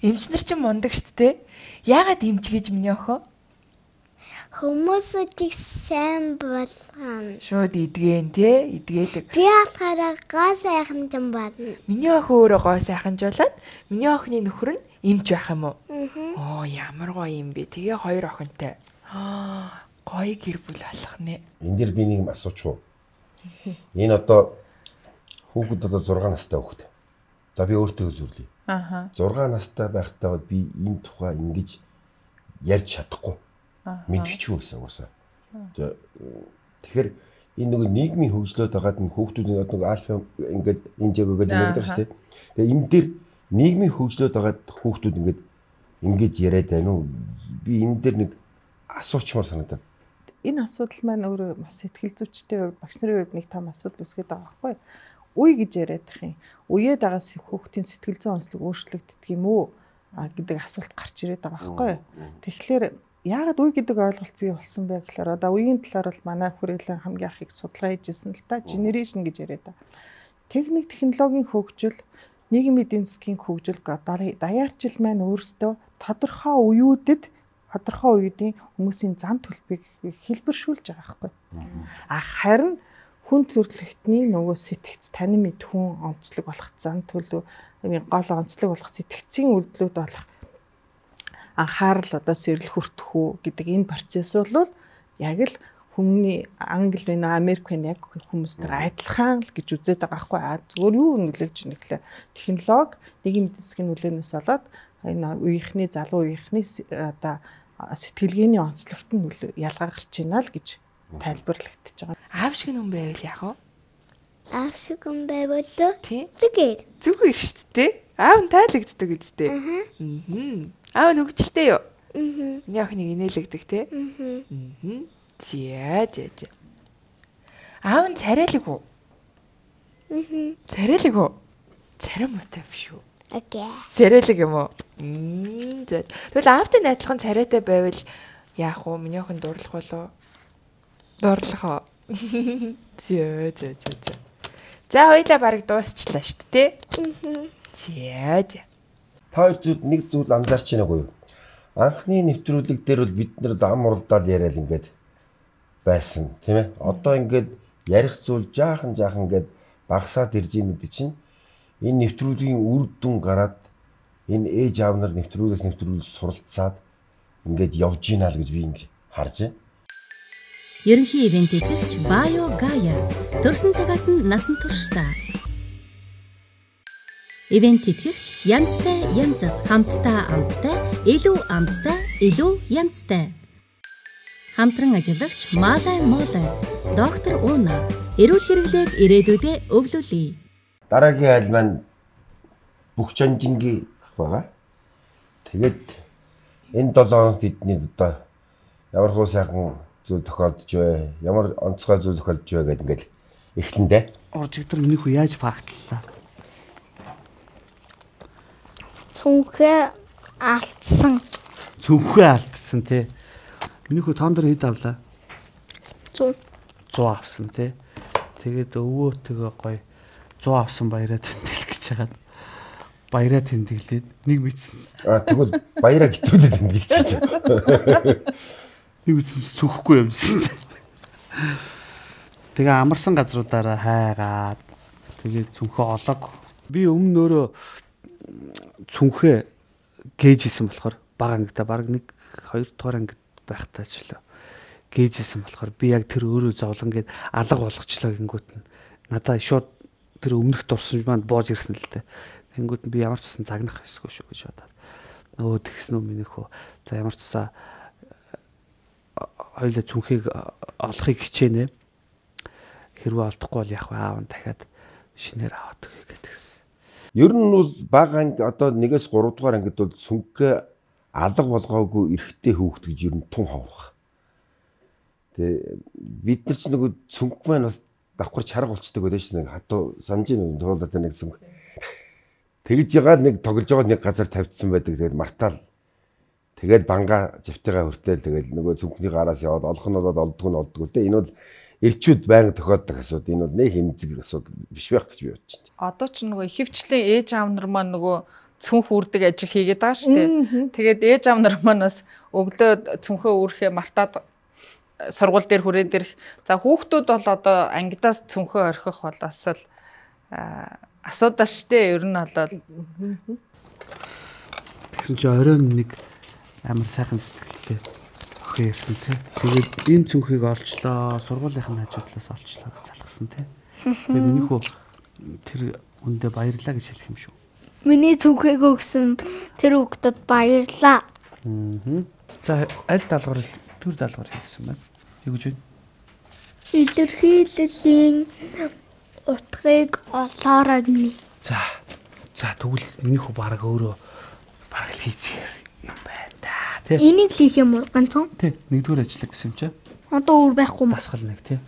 Эмч нар ч мундаг штт те. Яагаад эмч гэж миний охин? Хүмүүсүүдийг сайн болгоно. Шууд идэгэн те, идгээдэг. Би болохоор гоо сайхан юм байна. Миний охин өөрөө гоо сайхан жолоод миний охины нөхөр нь эмч байх юм уу? Оо ямар гоё юм бэ. Тэгээ хоёр охинтой. Аа гоё гэр бүл болох нэ. Энд дэр би нэг юм асууч уу? Энэ одоо хүүхэд одоо зургаан настай хүүхэд. За би өөртөө үзүүлье. Аха. зургаан настай байхдаа би энэ тухай ингэж ярьж чадахгүй. Мэдчихгүй гэсэн уусаа. Тэгэхээр энэ нэг нийгмийн хөгжлөд байгаад нь хүүхдүүдийн одоо альфа ингээд энэ жагөөгээд мэддэг шүү дээ. Тэгээ энэ дэр нийгмийн хөгжлөд байгаад хүүхдүүд ингээд ингэж яриад байна уу? Би энэ дэр нэг асуучмаар санагдаад. Энэ асуудал маань өөрөө бас сэтгэл зүйчтэй багш нарын хувьд нэг том асуудал үүсгээд байгаа байхгүй юу? Үе гэж яриад их юм. Үеэд байгаас хүүхдийн сэтгэл зүйн онцлог өөрчлөгддөг юм уу гэдэг асуулт гарч ирээд байгаа байхгүй юу? Тэгэхээр яагаад үе гэдэг ойлголт бий болсон бэ гэхээр одоо үеийн талаар бол манай хүрээлэн хамгийн их судалгаа хийжсэн л та generation гэж яриад байгаа. Техник технологийн хөгжил, нийгмийн эдийн засгийн хөгжил даяарчил маань өөрсдөө тодорхой үеүүдэд тодорхой үеийн хүмүүсийн зам төлбөрийг хэлбэршүүлж байгаа байхгүй. А харин хүн төрөлхтний нөгөө сэтгц танин мэд хүн онцлог болох зам төлөв гол онцлог болох сэтгцийн үйлдэлүүд болох анхаарал одоо сэрэл хүртэх үү гэдэг энэ процесс бол яг л хүмүүний англи вэ Америк вэ яг хүмүүстэр адилхан л гэж үзээд байгаа байхгүй. А зөвөр юу нөлөөлж ийнэ гэхлээр технологи нийгмийн эдийн засгийн нөлөөнөөс болоод энэ үеийнхний залуу үеийнхний одоо сэтгэлгээний онцлогт нь ялгаа гарч ийна л гэж тайлбарлагдчихж байгаа. Аав шиг хүн байвал яах вэ? Аав шиг хүн байвал зүгээр. Зүгээр шүү дээ. Аав нь тайлагддаг үстэй. Аа. Аав нь хөвгчлээ юу? Аа. Миний охиныг инээлэгдэг те. Аа. За за за. Аав нь царайлаг уу? Мм. Царайлаг уу? Царай муутай биш үү? Окей. Царайлаг юм уу? Мм. Тэгвэл аавтай найзлах нь царайтай байвал яах вэ? Миний охин дурлах болоо. Дурлах уу? Зөө зөө зөө. За хоёлаа бараг дуусчлаа шүү дээ. Мм. За за. Та хоёр зүйл нэг зүйл анзаарч байна уу? Анхны нэвтрүүлэг дээр бол бид нэр ам уралдаад яриад ингээд байсан тийм ээ. Одоо ингээд ярих зүйл жаахан жаахан ингээд багасаад ирж байгаа гэдэг чинь энэ нэвтрүүлгийн үр дүн гараад энэ ээж аав нар нэвтрүүлгээс нэвтрүүлж суралцаад ингээд явж гинэ л гэж би ингээд харж байна. Ерөнхий ивент итгэгч Bio Gaia төрсэн цагаас нь насан туршдаа. Ивент итгэгч янзтай янз хамтдаа амттай илүү амттай илүү янзтай. Хамтран ажиллагч Малай Молай доктор Уна эрүүл хэрэглээг ирээдүйдээ өвлүүлье. Дараагийн айл маань бүх жанжингийн байгаа. Тэгээд энэ долоо хоногт эдний одоо ямар хөө сайхан зүйл тохиолдож вэ? Ямар онцгой зүйл тохиолдож вэ гэдэг ингээд эхлэндээ. Оржигдэр минийх үү яаж фактлаа? Цүнхээ алдсан. Цүнхээ алдсан тий. Минийх үү тоон дээр хэд авлаа? Зүү. сто авсан тий. Тэгээд өвөөтэйгээ гоё сто авсан баяраа тэмдэглэх гэж хагаад баяраа тэмдэглээд нэг мэдсэн. Аа тэгвэл баяраа гитрүүлээд тэмдэглэж чиж. Нэг мэдсэн цүнхэхгүй юмсан. Тэгээ амарсан газруудаараа хайгаад тэгээд цүнхээ олоог. Би өмнө өөрөө цүнхээ гээж исэн болохоор бага ангида баг нэг хоёр дахь ангид байхтаа ч л гээжсэн болохоор би яг тэр өөрөө зовлон гээд алга болгочлоо гингүүт нь надаа шууд тэр өмнөх дурсамж манд боож ирсэн л дээ. Гингүүт нь би ямар ч гэсэн загнах хэсгүй шүү гэж бодоод. Нөө тэгсэн үү минийхөө. За ямар ч цаа хоёлаа цүнхийг олохыг хичээнэ. Хэрвээ олдохгүй бол яг аав нь дахиад шинээр аваад өгье гэдгийгс. Ер нь бол бага анги одоо нэгээс гурав дугаар ангид бол цүнхээ алга болгоогүй эрэгтэй хүүхэд гэж ер нь тун ховрох. Тэгээ бид нар ч нөгөө цүнх маань бас давхар чарга болчдөг байдаг шин нэг хатуу санжийн туулаад нэг цүнх. Тэгж ягаад нэг тоглож байгаа нэг газар тавьчихсан байдаг. Тэгээд мартаал. Тэгээд банга живтайгаа хүртэл тэгээд нөгөө цүнхний гараас яваад олох нь болоод олддог нь олддог л дээ. Энэ бол эрчүүд байнга тохиолдог асуудал. Энэ бол нэг хэмзэг асуудал биш байх гэж би бодож байна. Одоо ч нөгөө ихэвчлэн ээж аав нар маань нөгөө цүнх үрдэг ажил хийгээд байгаа шүү дээ. Тэгээд ээж аав нар манаас өглөө цүнхөө үрхээ мартаад сургууль дээр хүрээд ирэх. За хүүхдүүд бол одоо ангидаас цүнхөө орхих бол бас л асуудал штэ. Ер нь болоод тэгсэн чи оройн нэг амар сайхан сэтгэлтэй охин ирсэн тий. Тэгээд энэ цүнхийг олчлоо, сургуулийнхын хажуудлаас олчлоо гэж залгасан тий. Тэгээд минийхүү тэр үндэ баярлаа гэж хэлэх юм шүү. Миний цүнхийг өгсөн тэр хүүхдэд баярлаа. Аа. За аль даалгавар төр даалгавар хийсэн байна. Юу гэж вэ? Илэрхийллийн утгыг олоорой гинэ. За. За тэгвэл минийхүү бараг өөрөө бараг л хийчихээр юм байна да. Тэ. Энийг хийх юм уу ганцхан? Тэ. Нэгдүгээр ажиллаг гэсэн юм чи. Одоо өөр байхгүй юм. Дасгал нэг тий.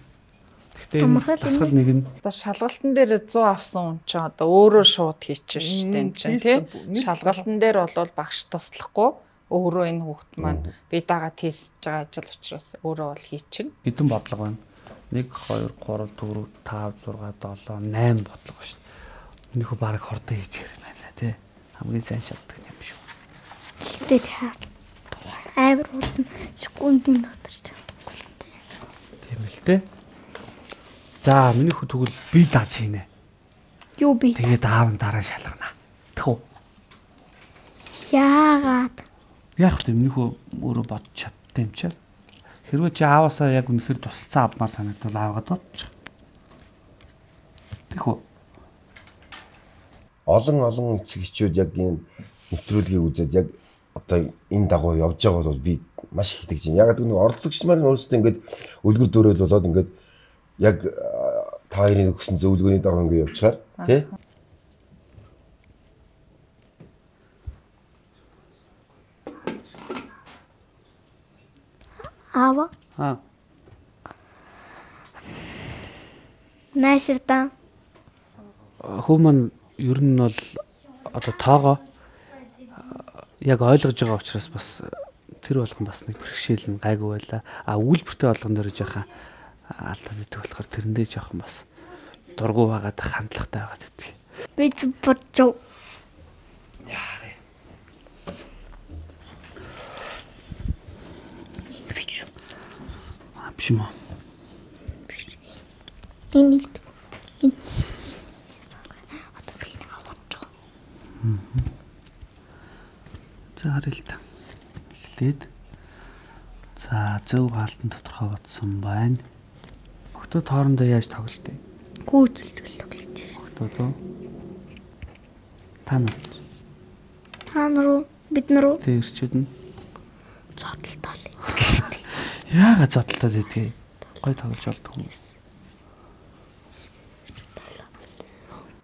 Гэхдээ дасгал нэг нь одоо шалгалтын дээр сто авсан хүн чи одоо өөрөө шууд хийчихэж штэ юм чинь тий. Шалгалтын дээр бол багш туслахгүй өөрөө энэ хүүхд маань би дагаад хийсэж байгаа ажил учраас өөрөө бол хийчихнэ. Хэдэн бодлого байна? нэг, хоёр, гурав, дөрөв, тавь, зурга, долоо, найм бодлого шүү дээ. Энийхүү бараг хордоо хийж гэр юм байна тий. Хамгийн сайн шатдаг юм шүү. Тэгтээ чаа. Амар хурдан секундын дотор ч. Тийм л дээ. За миний хүү тэгвэл би дааж хийнэ. Юу би? Тэгээд аав нь дараа шалгана. Тэхүү. Яагаад? Яг тийм миний хүү өөрөө бодож чадсан юм чи. Хэрвээ чи ааваасаа яг үнэхээр тусалцсан авмаар санагдвал аавгаад бодчих. Тэхүү. Олон олон эцэг эхчүүд яг энэ нэвтрүүлгийг үзээд яг одоо энэ дагуу явж байгаа бол би маш их итгэж байна. Яг нэг оролцогч маань өөрсдөө ингээд үлгэр дуурайл болоод ингээд яг та хоёрын өгсөн зөвлөгөөний дагуу ингээд явчихаар тий. Ава. Аа. Нааширдан. Хүмүүс ер нь бол одоо тоогоо яг ойлгож байгаа учраас бас тэр болгон бас нэг бэрхшээл нь гайгүй байла. А үйлбэртэй болгон дээр жоохон алдаад идэх болохоор тэрэндээ жоохон бас дургу байгаад хандлагатай байгаад идэх. Би зүбэрчөө. Яарэ. Бичүү. А бишмаа. Энэ энэ одоо би нэг аваад. За харъя л та. Эхлээд за зөв хаалтан тодорхой бодсон байна. Хотод хоорондоо яаж тоглолт вэ? Гүйцэлтгэл тоглож байна. Хотод уу? Тань. Тань руу бид нар тэрчүүд нь зодтолтой л. Яагаад зодтолтой байдгийг гой тоглож болдог юм.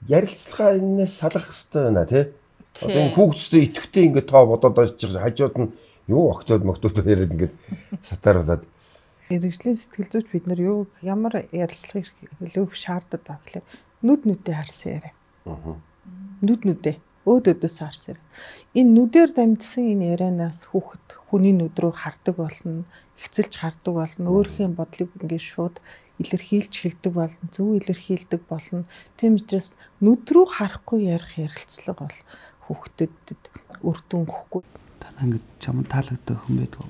Ярилцлага энэс салах хэрэгтэй байна тий. Одоо энэ хүүхдтэй идэвхтэй ингээд тоо бодоод байж байгаа хажууд нь юу октод моктод яриад ингээд сатааруулаад Мэргэжлийн сэтгэл зүйч бид нар юу ямар ярилцлагыг хэлэх шаарддаг вэ гэхээр нүд нүдээ харсан яриа. Аа. Нүд нүдээ өөд өдөөс харсан. Энэ нүдээр дамжсан энэ ярианаас хүүхэд хүний нүд рүү хардаг болно, хэцэлж хардаг болно, өөрхийн бодлыг ингээд шууд илэрхийлж хэлдэг болно, зөв илэрхийлдэг болно. Тийм учраас нүд рүү харахгүй ярих ярилцлага бол хүүхдэд үр дүн өгөхгүй. Танаа ингэж чам таалагддаг хүн байдгүй.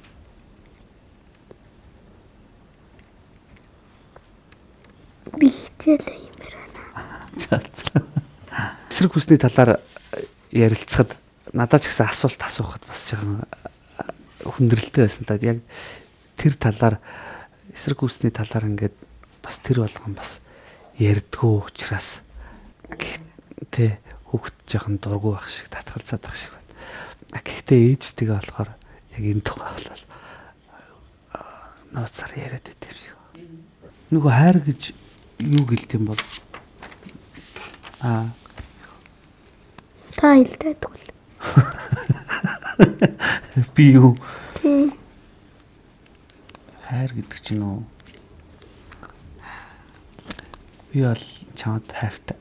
Би хичээлээ юм байна. Эсрэг хүсний талаар ярилцахад надад ч гэсэн асуулт асуухад бас жоохон хүндрэлтэй байсан та. Яг тэр талаар эсрэг хүсний талаар ингээд бас тэр болгон бас ярдгөө учраас тэ хүүхд жоохон дургу байх шиг татгалзаад байх шиг байна. Гэхдээ ээжтэйгээ болохоор яг энэ тухай болол нууцаар яриад байдаг юм. Нөгөө хайр гэж юу гэлт юм бол аа та хэлдэг үл. Би юу? Тийм. Хайр гэдэг чинь үү? Би бол чамд хайртай.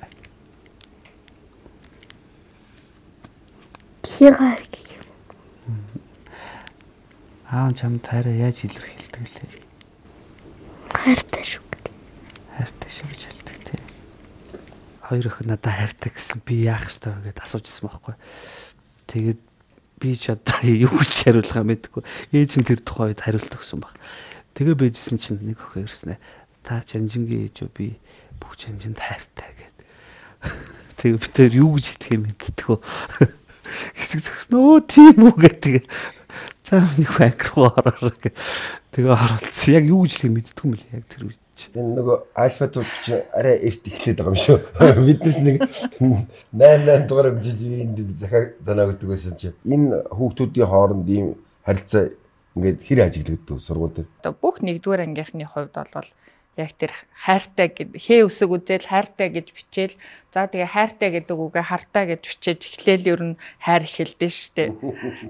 Хигаар гэх юм. Аа чамд хайраа яаж илэрхийлдэг лээ? Хайртай шүү. Хайртай шүү гэж хэлдэг тий. Хоёр охин надад хайртай гэсэн би яах ёстой вэ гэдээ асуужсэн байхгүй. Тэгээд би ч одоо юу гэж хариулах юм мэдгүй. Ээж нь тэр тухай үед хариулт өгсөн баг. Тэгээ байжсэн чинь нэг охин ирсэн ээ. Та Жанжингийн ээж үү би бүх Жанжинд хайртай гэд. Тэгээ би тэр юу гэж хэлэх юм мэдтгүү. Хэсэг зөкснөө тийм үү гэдэг. За нэг банк руу ороо гэх. Тэгээ оруулсан. Яг юу гэж хэлэх мэдтгүй юм л яг тэр үед. Энэ нөгөө альфатууд чи арай эрт эхлээд байгаа юм шүү. Биднес нэг найн найн дугаар хэмжиж энд захаа занаа гэдэг байсан чи. Энэ хүүхдүүдийн хооронд ийм харилцаа ингээд хэр ажиглагддаг сургууль дээр. Одоо бүх нэгдүгээр ангийнхны хувьд бол яг тэр хайртай гэд хээ үсэг үзэл хайртай гэж бичээл за тэгээ хайртай гэдэг үгээ хартаа гэж бичээж эхлээл ер нь хайр эхэлдэж штэ.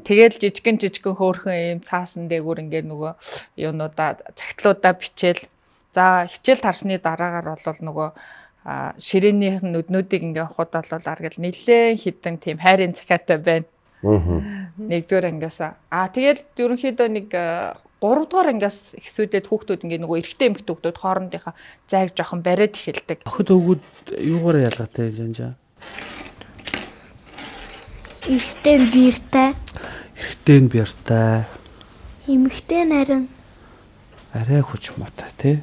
Тэгэл жижигэн жижигэн хөөрхөн юм цаасан дээгүүр ингээд нөгөө юунуудаа цагтлуудаа бичээл за хичээл тарсны дараагаар бол нөгөө ширээнийх нь нүднүүдийг ингээд хот болол аргал нилээн хитэн тийм хайрын цахиатай байна. Аа. Нэгдүгээр ангиас аа тэгэл ерөнхийдөө нэг гурав дугаар ангиас ихсүүдэд хүүхдүүд ингээд нөгөө эрэгтэй эмэгтэй хүүхдүүд хоорондынхаа зайг жоохон бариад эхэлдэг. Охид өвгүүд юугаар ялгаатай жанжаа? Эрэгтэй нь биертэй. Эрэгтэй нь биертэй. Эмэгтэй нь харин арай хүч муутай тий.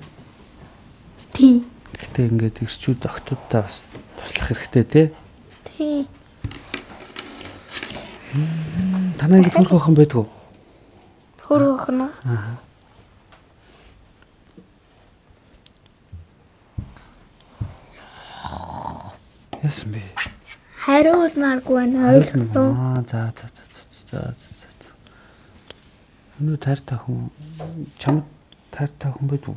Тий. Гэтэ ингээд ирчүүд охтуудтай бас туслах хэрэгтэй тий. Тий. Танаа ингээд хөрх охин байдгүй. Хөрх охин уу? Аа. Яасан бэ? Хариулмааргүй байна ойлгосон. Аа за за за за. Өнөө таартай хүн чамд таартай хүн байдгүй.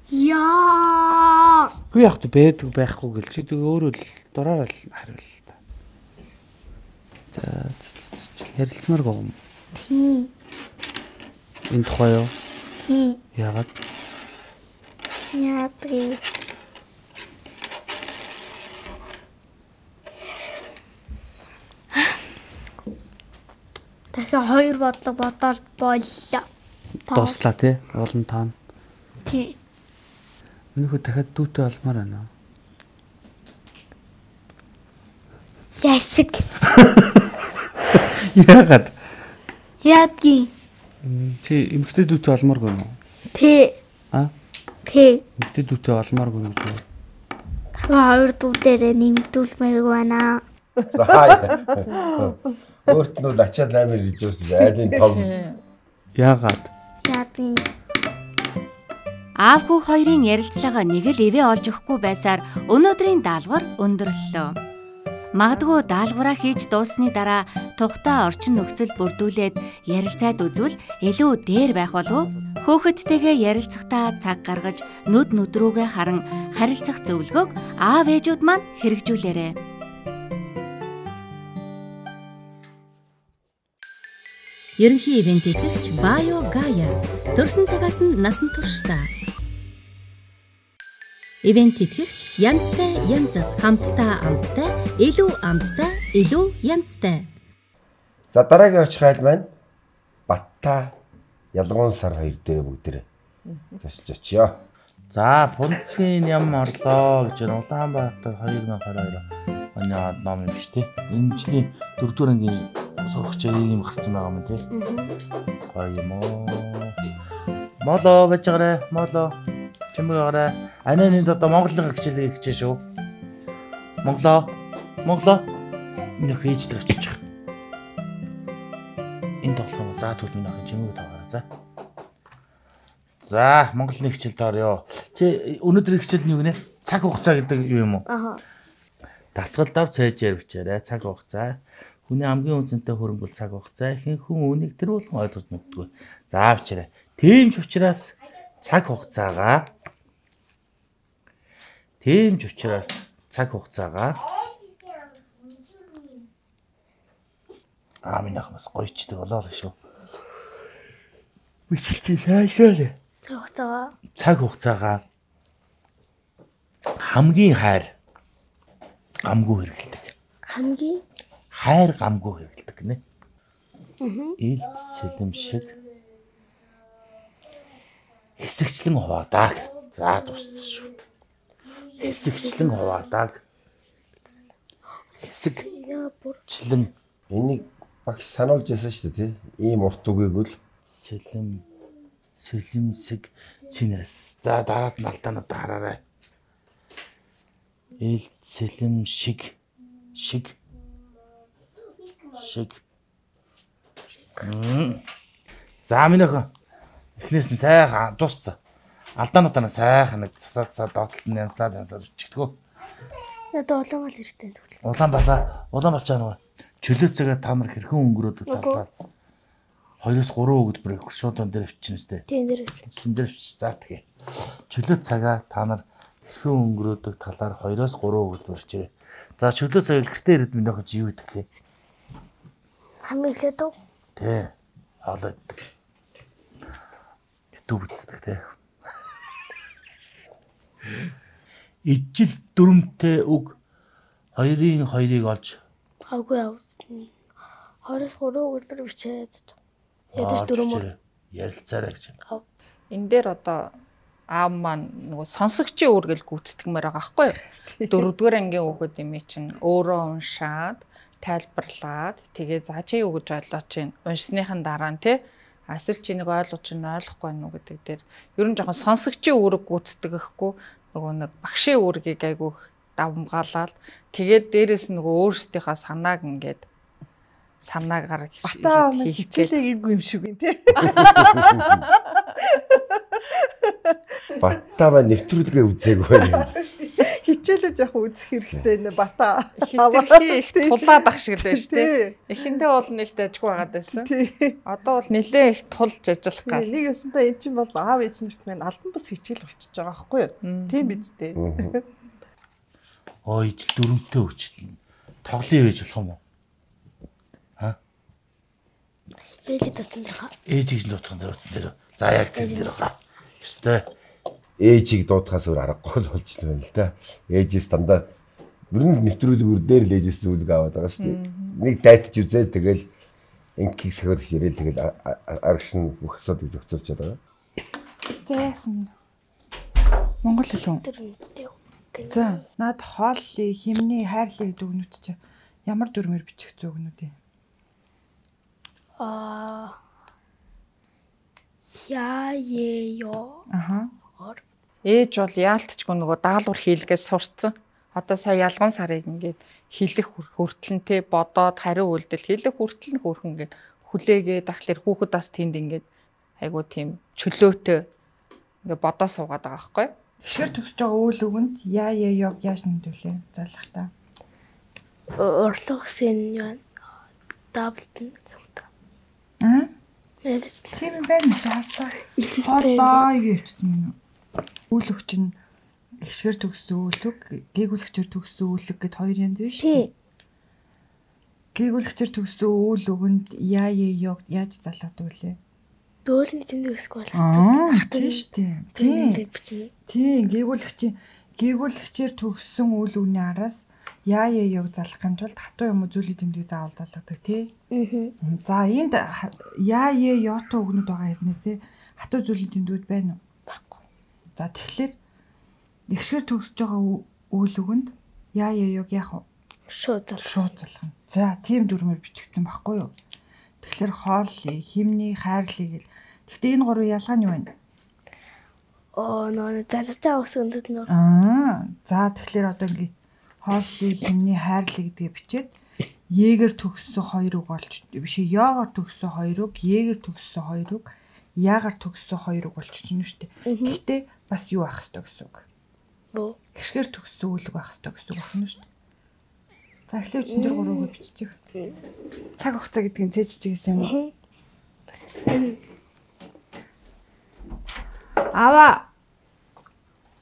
Яа. Гү яг тэ байдаг байхгүй гэл чи тэг өөрөө л дураараа л хариул та. За ярилцмаар гоо. Тий. Энэ тухай юу? Тий. Яагаад? Яагаад дахиад хоёр бодлого бодоод боллоо. Дуслаа тий. Олон таана. Тий. Минийхүү дахиад дүүтэй олмоор байна. Ясэг. Яагаад? Яадгийн. Тий, эмэгтэй дүүтэй олмоор гэнэ. Тий. А? Тий. Эмэгтэй дүүтэй олмоор гэнэ гэж байна. Хоёр дүү дээрээ нэмдүүлмээр байна. За. Өөрт нь ачаад амар ризүүс айлын том. Яагаад? Яадгийн. Аав хүү хоёрын ярилцлага нэг л ивэ олж өгөхгүй байсаар өнөөдрийн даалгавар өндөрлөлөө. Магадгүй даалгавраа хийж дууссаны дараа тухтай орчин нөхцөл бүрдүүлээд ярилцаад үзвэл илүү дээр байх болов уу? Хөөхөдтэйгээ ярилцахдаа цаг гаргаж нүд нүдрүүгээ харан харилцах зөвлөгөөг аав ээжүүд маань хэрэгжүүлээрэй. Ерөнхий ивент итгэгч Bio Gaia төрсэн цагаас нь насан туршдаа. Ивент итгэгч янзтай янз хамтдаа амттай илүү амттай илүү янзтай. За дараагийн очих айл маань Батта ялгуун сар хоёр дээр бүгдээрээ тасалж очиё. За Пунцгийн ям орлоо гэж Улаанбаатар хоёр nghìn двадцать хоёр оны ном юм биш тий. Энэ жилийн дөрөвдүгээр ангийн сурагч ийм гарсан байгаа юм тий. Гоё юм уу. Моло байж гараа моло чимээгараа ананид одоо монголын хичээлийг хичээ шүү. Монголоо монголоо энэ хээждэг очиж. Энд болох юм. За тэгвэл минь ахын чимээг таагараа за. За монголын хичээлд орё. Чи өнөөдрийн хичээл нь юу гинэ? Цаг хугацаа гэдэг юу юм уу? Аха. Дасгалдав цайжээр бичээрэй. Цаг хугацаа. Хүний хамгийн үнцэнтэй хөрөнгө бол цаг хугацаа. Ихэнх хүн үнийг тэр болгон ойлгож мэддэг. За бичээрэй. Тийм ч учраас цаг хугацаагаа Тийм ч учраас цаг хугацаагаа аа минь ахмас гоёчдаг болоо л шүү. Бичлээ сайшаа. Цаг хугацаагаа Цаг хугацаагаа хамгийн хайр гамгүй хэрэгэлдэг. хамгийн Хайр гамгүй хэрэгэлдэг гинэ. Аа. Ил сэлэм шиг хэсэгчлэн хуваадаг. За дууссан шүү. Хэсэгчлэн хуваадаг. Хэсэгчлэн Энийг багш сануулж яасан шүү дээ тий. Ийм урт үгийг л сэлэм сэлэмсэг чинэрс. За дараад нь алдаанууд хараарай. Ил сэлэм шиг шиг шиг. За минь охин. Эхнээс нь сайхан дууссан. Алдаануудаа сайхан нэг засаад засаад доотлолт нь янзлаад янзлаад өччихдгөө. одоо улаан бол хэрэгтэй тэгвэл. Улаан балаа, улаан болчаа нөгөө чөлөө цагаа та нар хэрхэн өнгөрөөдөг талаар хоёроос гурван өгдбөр шууд он дээр авчихна сте. Тийм дээр авчихна. Шин дээр авчих. За тэгээ. Чөлөө цагаа та нар хэрхэн өнгөрөөдөг талаар хоёроос гурван өгдбөр чирээ. За чөлөө цаг гэртээ ирээд минь охин чи юу гэдэг лээ? Хамгийн эхлээд үү? Тэ. Хаалаад. YouTube үздэг те. Ижил дүрмтэй үг хоёрын хоёрыг олж Аггүй яв. Хоёроос гурван өдөр бичээд. Ядаж дөрөв ярилцаарай гэж. Энэ дээр одоо аав маань нөгөө сонсогчийн үүргэл гүйцэтгэмээр байгаа байхгүй юу? Дөрөвдүгээр ангийн хүүхэд юм чинь өөрөө уншаад тайлбарлаад тэгээ за чи юу гэж ойлгож чинь уншсныхан дараа нь тий асуул чи нэг ойлгож чинь ойлгохгүй байна уу гэдэг дээр ер нь жоохон сонсогчийн үүрэг гүйцэтгэхгүй нөгөө нэг багшийн үүргийг айгүйх давмгаалаад тэгээд дээрэс нь нөгөө өөрсдийнхөө санааг ингээд санаагаар хичээлээ гээгүй юм шиг юм тий. Батта ба нэвтрүүлгээ үзээгүй байна. Хичээлээ яг үзэх хэрэгтэй нэ бата. Хитрхи их тулаад ах шиг л байна шүү дээ. Эхэндээ бол нэг дажгүй байгаад байсан. Одоо бол нэлээ их тулж ажиллах гал. Нэг өсөнтэй эн чинь бол аав ээж нарт маань албан бус хичээл болчихж байгаа байхгүй юу? Тийм биз дээ. Ой ижил дөрөвтэй өчтөн. Тоглоё байж болох юм уу? Ха? ээж дутсан дээр. Ээжийг л дутсан дээр утсан дээр. За яг тэр дээр байгаа. Ёстой. Ээжийг дуудахаас өөр аргагүй л болж байна л да. Ээжээс дандаа бүрэн нэвтрүүлгээр дээр л ээжээс зүйлг аваад байгаа шүү дээ. Нэг дайтж үзэл тэгэл инкийг сахиулагч ирээл тэгэл арагш нь бүх асуудыг зохицуулж байгаа. Зээсэн. Монгол хэлэн. За, над хооллыг, химний, хайрлыг гэдэг үгнүүд чи ямар дүрмээр бичигдсэн үгнүүд юм? Аа. Я е ёо. Аха. Ээж бол яалтчгүй нөгөө даалгавар хийлгээс сурцсан. Одоо сая ялган сарыг ингээд хилэх хүртэлнтэй бодоод хариу үйлдэл хилэх хүртэл нь хөөрхөн ингээд хүлээгээ дахлаар хүүхэд бас тэнд ингээд айгуу тийм чөлөөтэй ингээд бодоо суугаад байгаа байхгүй. Тэгшэр төгсөж байгаа үйл өгөнд яа яа ёг яаж нэмдүүлээ зарлах та. Орлого сэн юм. Даблтэн юм та. Аа? Тийм байна жаартаа. Хоолоо гэвчсэн юм. Үйл өгч нь ихшгэр төгссөн үлэг, гээгүүлэгчээр төгссөн үлэг гэд хоёр янз биш үү? Гээгүүлэгчээр төгссөн үйл өгөнд яа яа ёг яаж залгадаг вэ? Дөөлний тэмдэгсэх бол аа тийм шүү дээ. Тийм. Тийм, гээгүүлэгчийн гээгүүлэгчээр төгссөн үйл өгний араас яа яа ёг залгахын тулд хатуу юм уу зүйлийн тэмдгийг заавал залгадаг тий. Аа. За энд яа яа ётой өгнөд байгаа хэрнээсээ хатуу зүйлийн тэмдгүүд байна уу? Баггүй. За тэгэхээр ихшгэр төгсөж байгаа үйл өгөнд яа яа ёг яах вэ? Шууд залгах. Шууд залгах. За тийм дүрмээр бичигдсэн байхгүй юу? Тэгэхээр хооллыг, химний, хайрлыг. Гэхдээ энэ гурвын ялгаа нь юу вэ? Оо нөө залгаж байгаа үсгэндүүд нөр. Аа. За тэгэхээр одоо ингээ хооллыг, химний, хайрлыг гэдгээ бичээд Егэр төгссөн хоёр үг болж биш ээ. Яагаар төгссөн хоёр үг, Егэр төгссөн хоёр үг, яагаар төгссөн хоёр үг болчихно шүү дээ. Гэхдээ бас юу ах хэвээр гэсэн үг. Бөө. Гişгэр төгссөн үйл үг ах хэвээр гэсэн үг байна шүү дээ. За эхлээд үчин дээр гурав үг биччих. Цаг хугацаа гэдгийг цээжж гэсэн юм уу? Ава.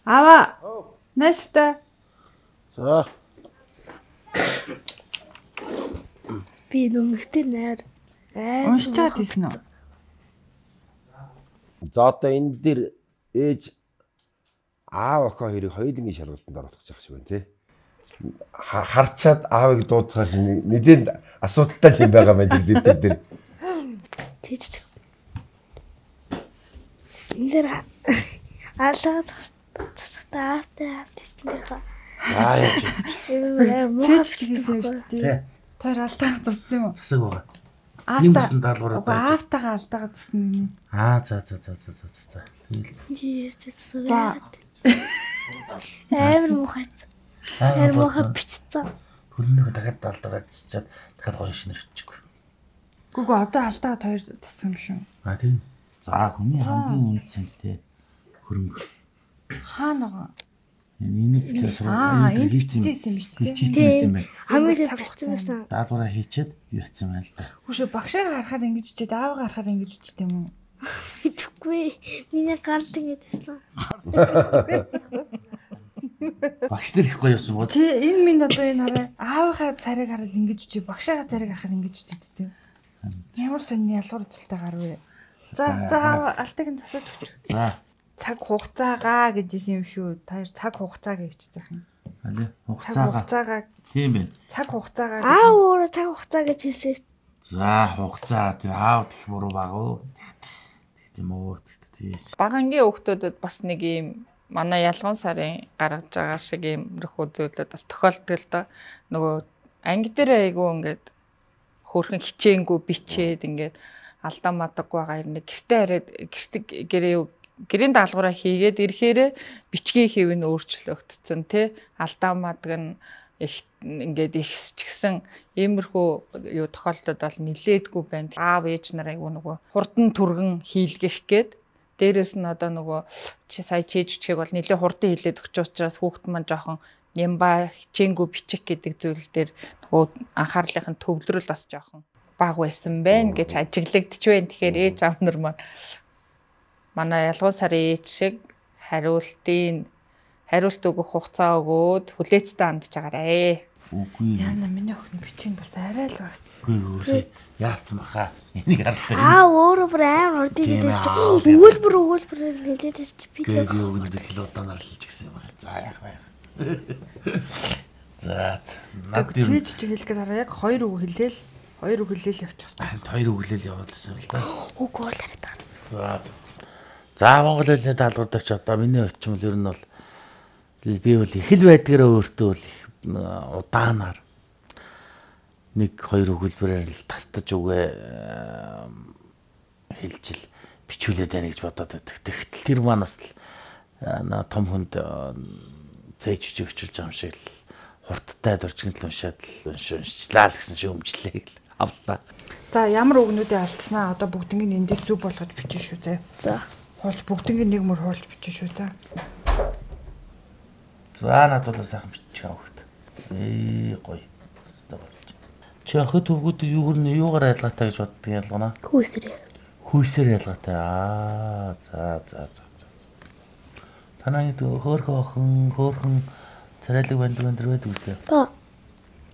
Ава. Нэстэ. За. Би нүмэгтэй найр. Уншиж чад хийсэн үү? За одоо энэ дээр ээж аав охин хоёрыг хоёулангийн шалгалтанд оруулах гэж байгаа шиг байна тий. Харчаад аавыг дуудахаар шинэ нэгэн асуудалтай юм байгаа байна тэр дээр. Тийч. Энэ дээр алгаа тасгатаа автэйсэн дээр хаа. Аа яа. Тий. Тэр алдаа тассан юм уу? Засаг байгаа. Аавтаа даалгавраа байж. Аавтайгаа алдаагаа тассан юм. Аа за за за за за за. Тийш за. Амар мухац. Амар мухац бичсэн. Төлнөөгөө дахиад алдаагаа тасчаад дахиад гоё шинээр өччихгүй. Гүгөө одоо алдаагаа хоёр тассан юм шүү. Аа тийм. За хүний хамгийн үнэтэй тий. Хөрөнгө. Хаана байгаа? Энийг хэлсэн аа энэ хийсэн юм шүү дээ. Хийсэн юм байна. Хамгийн бичсэн. Даалгавраа хийчихэд юу хийсэн байна л да. Хүшээ багшаа харахаар ингэж үчихэд аавгаа харахаар ингэж үчихэд юм уу? Итгэхгүй. Миний гарал ингэж байсан. Багш нар их гоё юмсан гоо. Тий энэ минь одоо энэ хараа аавынхаа царийг хараад ингэж үчиж багшаагаа царийг харахаар ингэж үчихэд тийм. Ямар сонирны ялгуур үзэлтэй гар вэ? За за алтыг нь засаад өгч. За цаг хугацаагаа гэжсэн юм шүү. Та цаг хугацаа гэвчихсэн юм. Алей хугацаагаа. Хугацаагаа. Тийм байна. Цаг хугацаагаа. Аа өөрөө цаг хугацаа гэж хэлсэн. За хугацаа тэр аав гэх буруу баг уу. Тийм үү тийш. Багангийн хүүхдүүдэд бас нэг юм манай ялган сарын гаргаж байгаа шиг иймэрхүү зүйлүүд бас тохиолддог л доо. Нөгөө анги дээр айгу ингээд хөөрхөн хичээнгүй бичээд ингээд алдаа мадаггүй байгаа юм. Гэртээ хараад гэртэг гэрээ гэрийн даалгавраа хийгээд ирэхээр бичгийн хэв нь өөрчлөгдсөн тий алдаа мадаг нь их ингээд ихсч гисэн иймэрхүү юу тохиолдод бол нилээдгүй байна. Аав ээж нар айгу нөгөө хурдан түргэн хийлгэх гээд дээрэс нь одоо нөгөө чи сая чийж чиг бол нилээ хурдан хийлээд өгч учраас хүүхэд маань жоохон нямба хичээнгүй бичих гэдэг зүйл дээр нөгөө анхаарлынхын төвлөрөл бас жоохон бага байсан байна гэж ажиглагдчих байна. Тэгэхээр ээж аав нар маань манай ялгуун сарын ээж шиг хариултын хариулт өгөх хугацаа өгөөд хүлээцтэй хандж байгаарэ. Үгүй. Яна миний охин бичиг бас арай л бас. Үгүй үгүй. Яалцсан баха. Энийг хардаг. Аа өөрөө бүр амар урд хэлээс чи өгүүлбэр өгүүлбэрээр хэлээс чи би тэгээд юу гэдэг хилуудаа нарлж гисэн юм байна. За яах вэ? За над юм. Тэгж чи хэлгээд хараа яг хоёр үг хэлээл Хоёр өглөөл явчих. Хоёр өглөөл явуулсан л да. Үгүй бол яриад байгаа. За. За Монгол хэлний даалгавар дээр ч одоо миний очимол ер нь бол би бол их л байдгаараа өөртөө бол их удаанаар нэг хоёр өгүүлбэрээр л тастаж үгээ хэлж л бичүүлээд байна гэж бодоод байдаг. Тэгтэл тэр маань бас том хүнд зээж өчөж байгаа юм шиг л хурдтай дурчгын л уншаад л уншчлаа л гэсэн шиг өмжлээ гэл авлаа. За ямар үгнүүдээ алдснаа одоо бүгднийг эндээс зүг болгож бичэн шүү зэ. За. Хоолж бүгднийг нэг мөр хоолж бичэн шүү за. За надад бол сайхан бичих авахт. Ээ гоё. Чи охид өвгүүд юу гэрнэ юугаар ялгаатай гэж боддог ялгана? Хүүсрээ. Хүүсээр ялгаатай. Аа за за за. Танай хөөрхөн охин хөөрхөн царайлаг банд банд байдаг үстэй. Ба.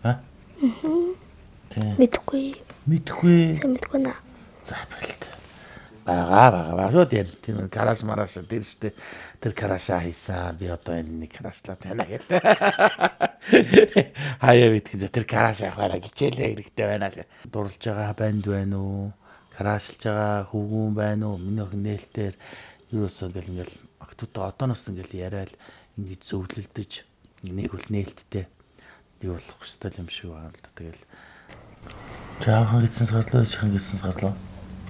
А? Мм. Тэ. Мэдгүй. Мэдгүй. Сайн мэдгүй наа. За бэлт. Бага бага бага тэр тэр гараж мараш тэр штэ тэр караша хийсэн би одоо энэ нэг карашлаа тана гэдэг. Хаяа битгий тэр караша явахаараа гिचээлээ хэрэгтэй байна л. Дурлж байгаа банд байна уу? Карашлж байгаа хүүгүүн байна уу? Миний охин нээлтээр юусоо гэл ингээл охтуудаа одооноос ингээл яриад ингэж зөвлөлдөж нэг бол нээлттэй юу болох хэвээр юм шиг байна л да. Тэгэл жаахан гисэн сарлоо ичхэн гисэн сарлоо.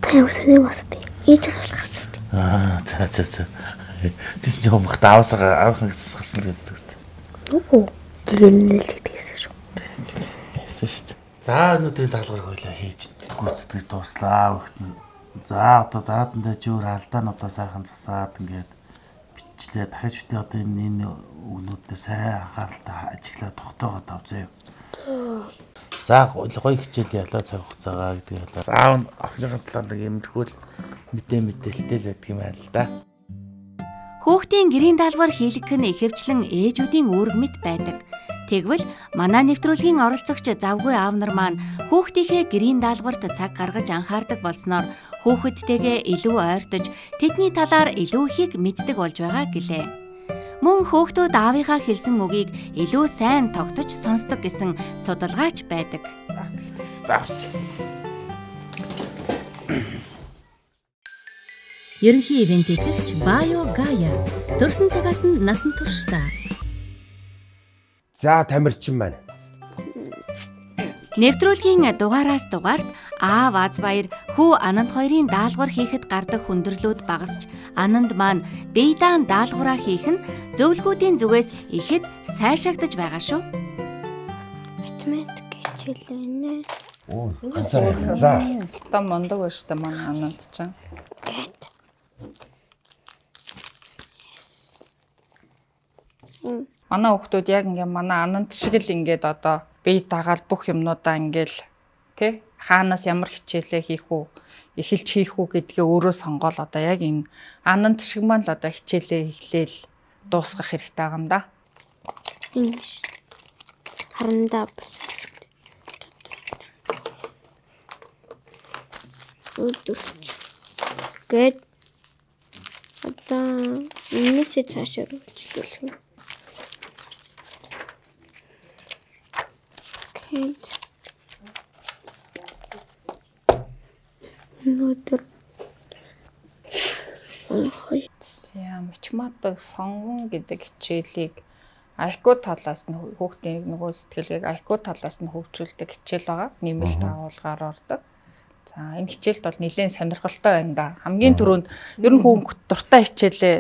Та юу сэний бастай. Ээж гарч гарсан шүү дээ. Аа за за за. Тэс ч юм бахта авсаа авах гэсэн гарсан гэдэг үстэй. Үгүй. Гинэлээд гэсэн шүү. Гэсэн шүү дээ. За өнөөдрийн даалгаврыг хоёлаа хийж гүйцэтгэж дууслаа өгтөн. За одоо дараадан дээр ч өөр алдаануудаа сайхан засаад ингээд бичлээ. Дахиж үтээ одоо энэ өгнүүд дээр сайн анхааралтай ажиглаад тогтоогоод авзаа юу. За гоё хичээл ялаа цаг хугацаагаа гэдэг ялаа. Заав охиныхын талаар нэг юмдггүй мэдээ мэдээлэлтэй л байдаг юм байна л да. Хүүхдийн гэрийн даалгавар хийлгэх нь ихэвчлэн ээжүүдийн үүрэг мэт байдаг. Тэгвэл манай нэвтрүүлгийн оролцогч завгүй аав нар маань хүүхдийнхээ гэрийн даалгаварт цаг гаргаж анхаардаг болсноор хүүхэдтэйгээ илүү ойртож тэдний талаар илүү ихийг мэддэг болж байгаа гэлээ. Мөн хүүхдүүд аавынхаа хэлсэн үгийг илүү сайн тогтож сонсдог гэсэн судалгаач байдаг. Заавс. Ерөнхий ивент итгэгч Bio Gaia төрсэн цагаас нь насан туршдаа. За тамирчин маань. Нэвтрүүлгийн дугаараас дугаарт аав аз баяр хүү Ананд хоёрын даалгавар хийхэд гардаг хүндрэлүүд багасч Ананд маань бейдаан даалгавраа хийх нь зөвлгүүдийн зүгээс ихэд сайшаагдаж байгаа шүү. Математик хичээлээ. Оо, ганцаар. За. Ста мондог байна штэ манай Ананд ч. Гэт. Манай хүүхдүүд яг ингээ манай Ананд шиг л ингээд одоо бие дагаал бүх юмнуудаа ингээл тий хаанаас ямар хичээлээ хийх үү эхэлж хийх үү гэдгээ өөрөө сонгоол одоо яг энэ Ананд шиг маань л одоо хичээлээ эхлээл дуусгах хэрэгтэй байгаа юм да. Инш. Харандаа бас. Өдөрч. Гэт. Одоо энэсээ цаашаа үргэлжлүүлэх юм. Гэт. Өнөөдөр ой яа математик сонгон гэдэг хичээлийг ай кью талаас нь хүүхдийн нөгөө сэтгэлгээг ай кью талаас нь хөгжүүлдэг хичээл байгаа. Нэмэлт агуулгаар ордог. За энэ хичээлд бол нэлээд сонирхолтой байна да. Хамгийн түрүүнд ер нь хүн дуртай хичээлээ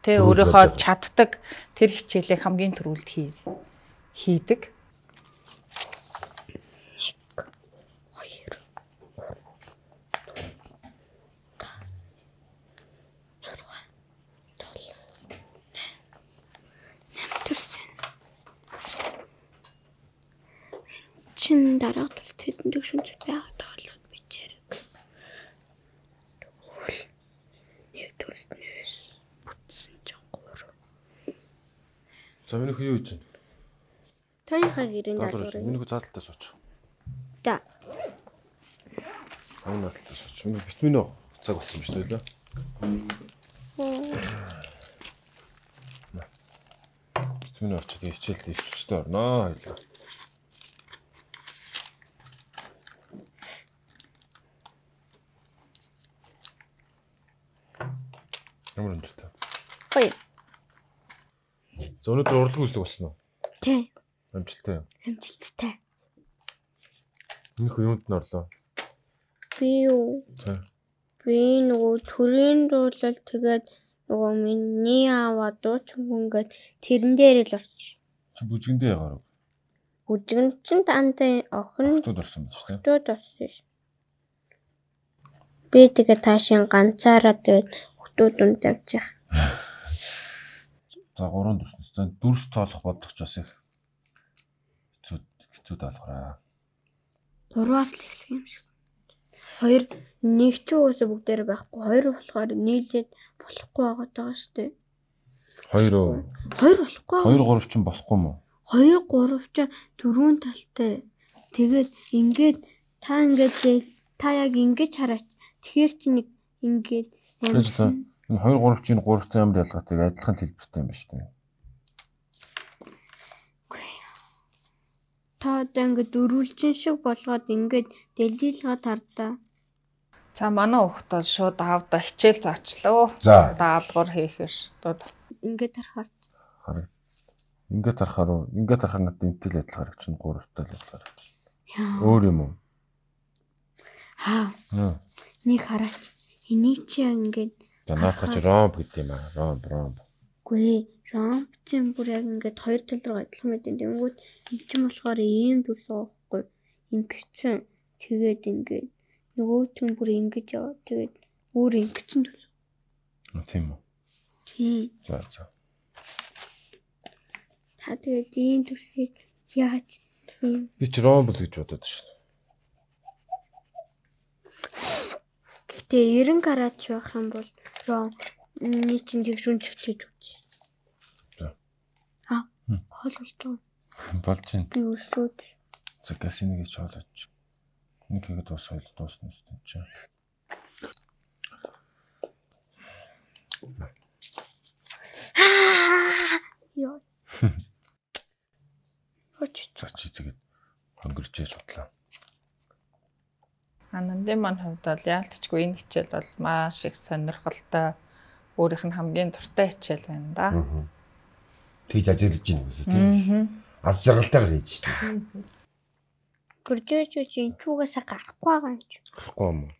тэ өөрийнхөө чаддаг тэр хичээлээ хамгийн түрүүлд хийдэг. чин дараа тус тэдэнд шүнж байгаад болоод бичээрэй гэсэн. Тэгвэл нэг төрснөөс бүтсэн чинь гурав. За миний хүү юу гэж байна? Таны гэрийн даалгаврыг. Миний хүү заалталтаа сууч. За. Ань заалталтаа сууч. Миний витамин уу цаг болсон биш үү лээ. Витамин очиж хичээлд ичвчтэй орноо хэлээ. Ямар амжилттай. Гоё. За өнөөдөр урлаг үзлэг болсон уу? Тий. Амжилттай. Амжилттай. Энэ хөө юунд нь орлоо? Би юу? За. Би нөгөө төрийн дуулал тэгээд нөгөө миний аваа дуучин ингээд тэрэн дээр л орчих. Чи бүжгэндээ ягаар. Бүжгэн чин тантаа охин Хотод орсон байж тээ. хотод орсон ш. Би тэгээд таашин ганцаараа тэгээд хотод унд явчих. За гурван дүрснээс. За дүрс тоолох бодох ч бас их хэцүү хэцүү даалгараа. Гурваас л эхлэх юм шиг. Хоёр нэг ч үгээс бүгдээр байхгүй. Хоёр болохоор нийлээд болохгүй байгаа шүү дээ. Хоёр уу? Хоёр болохгүй. Хоёр гурав ч болохгүй юм уу? Хоёр гурав ч дөрвөн талтай. Тэгээд ингээд та ингээд та яг ингэж хараач. Тэгэхээр чи нэг ингээд амарсан. Энэ хоёр гурав чинь гуравтай ямар ялгаатай адилхан хэлбэртэй юм ба шүү дээ. Та одоо ингээд дөрвөлжин шиг болгоод ингээд дэлилгээ тардаа. За манай хүүхдүүд шууд аавда хичээл заачлаа. За. Даалгавар хийх биш. Одоо Ингээд харахаар. Хараг. Ингээд харахаар уу? Ингээд харахаар надад энтэл адилхан харагч нь гуравтай л адилхан харагч. Өөр юм уу? Аа. Нэг хараач. Энийг чи ингээд За наадах чи ромб гэдэг юм аа. Ромб, ромб. Гүй, ромб чинь бүр яг ингээд хоёр тал руу адилхан мэдэн. Тэнгүүд энэ ч юм болохоор ийм дүрс аахгүй. Ингэсэн. Тэгээд ингээд нөгөө ч бүр ингэж яваа. Тэгээд өөр ингэсэн дүрс. Тийм үү. Тийм. За за. Та тэгээд ийм дүрсийг яаж ийм Би ч ромб л гэж бодоод шүү. Гэтэ нэрэн карат байх юм бол ром нэг чинь тэг шүнчгчиж үз. За. Аа. Хол болж байгаа. Болж байна. Би өсөөд. За гасиныг ч хоолооч. Нэг ихэд бас хоол дуусна үстэй чи. Яа. Хоч За чи тэгээд хөнгөрч яж бодлоо. Анандын маань хувьд бол яалтчгүй энэ хичээл бол маш их сонирхолтой өөрийнх нь хамгийн дуртай хичээл байна да. Тэгж ажиглаж байна гэсэн тийм. Аз жаргалтайгаар хийж шүү дээ. гөржөөж чинь чуугасаа гарахгүй байгаа юм чи. Гарахгүй юм уу?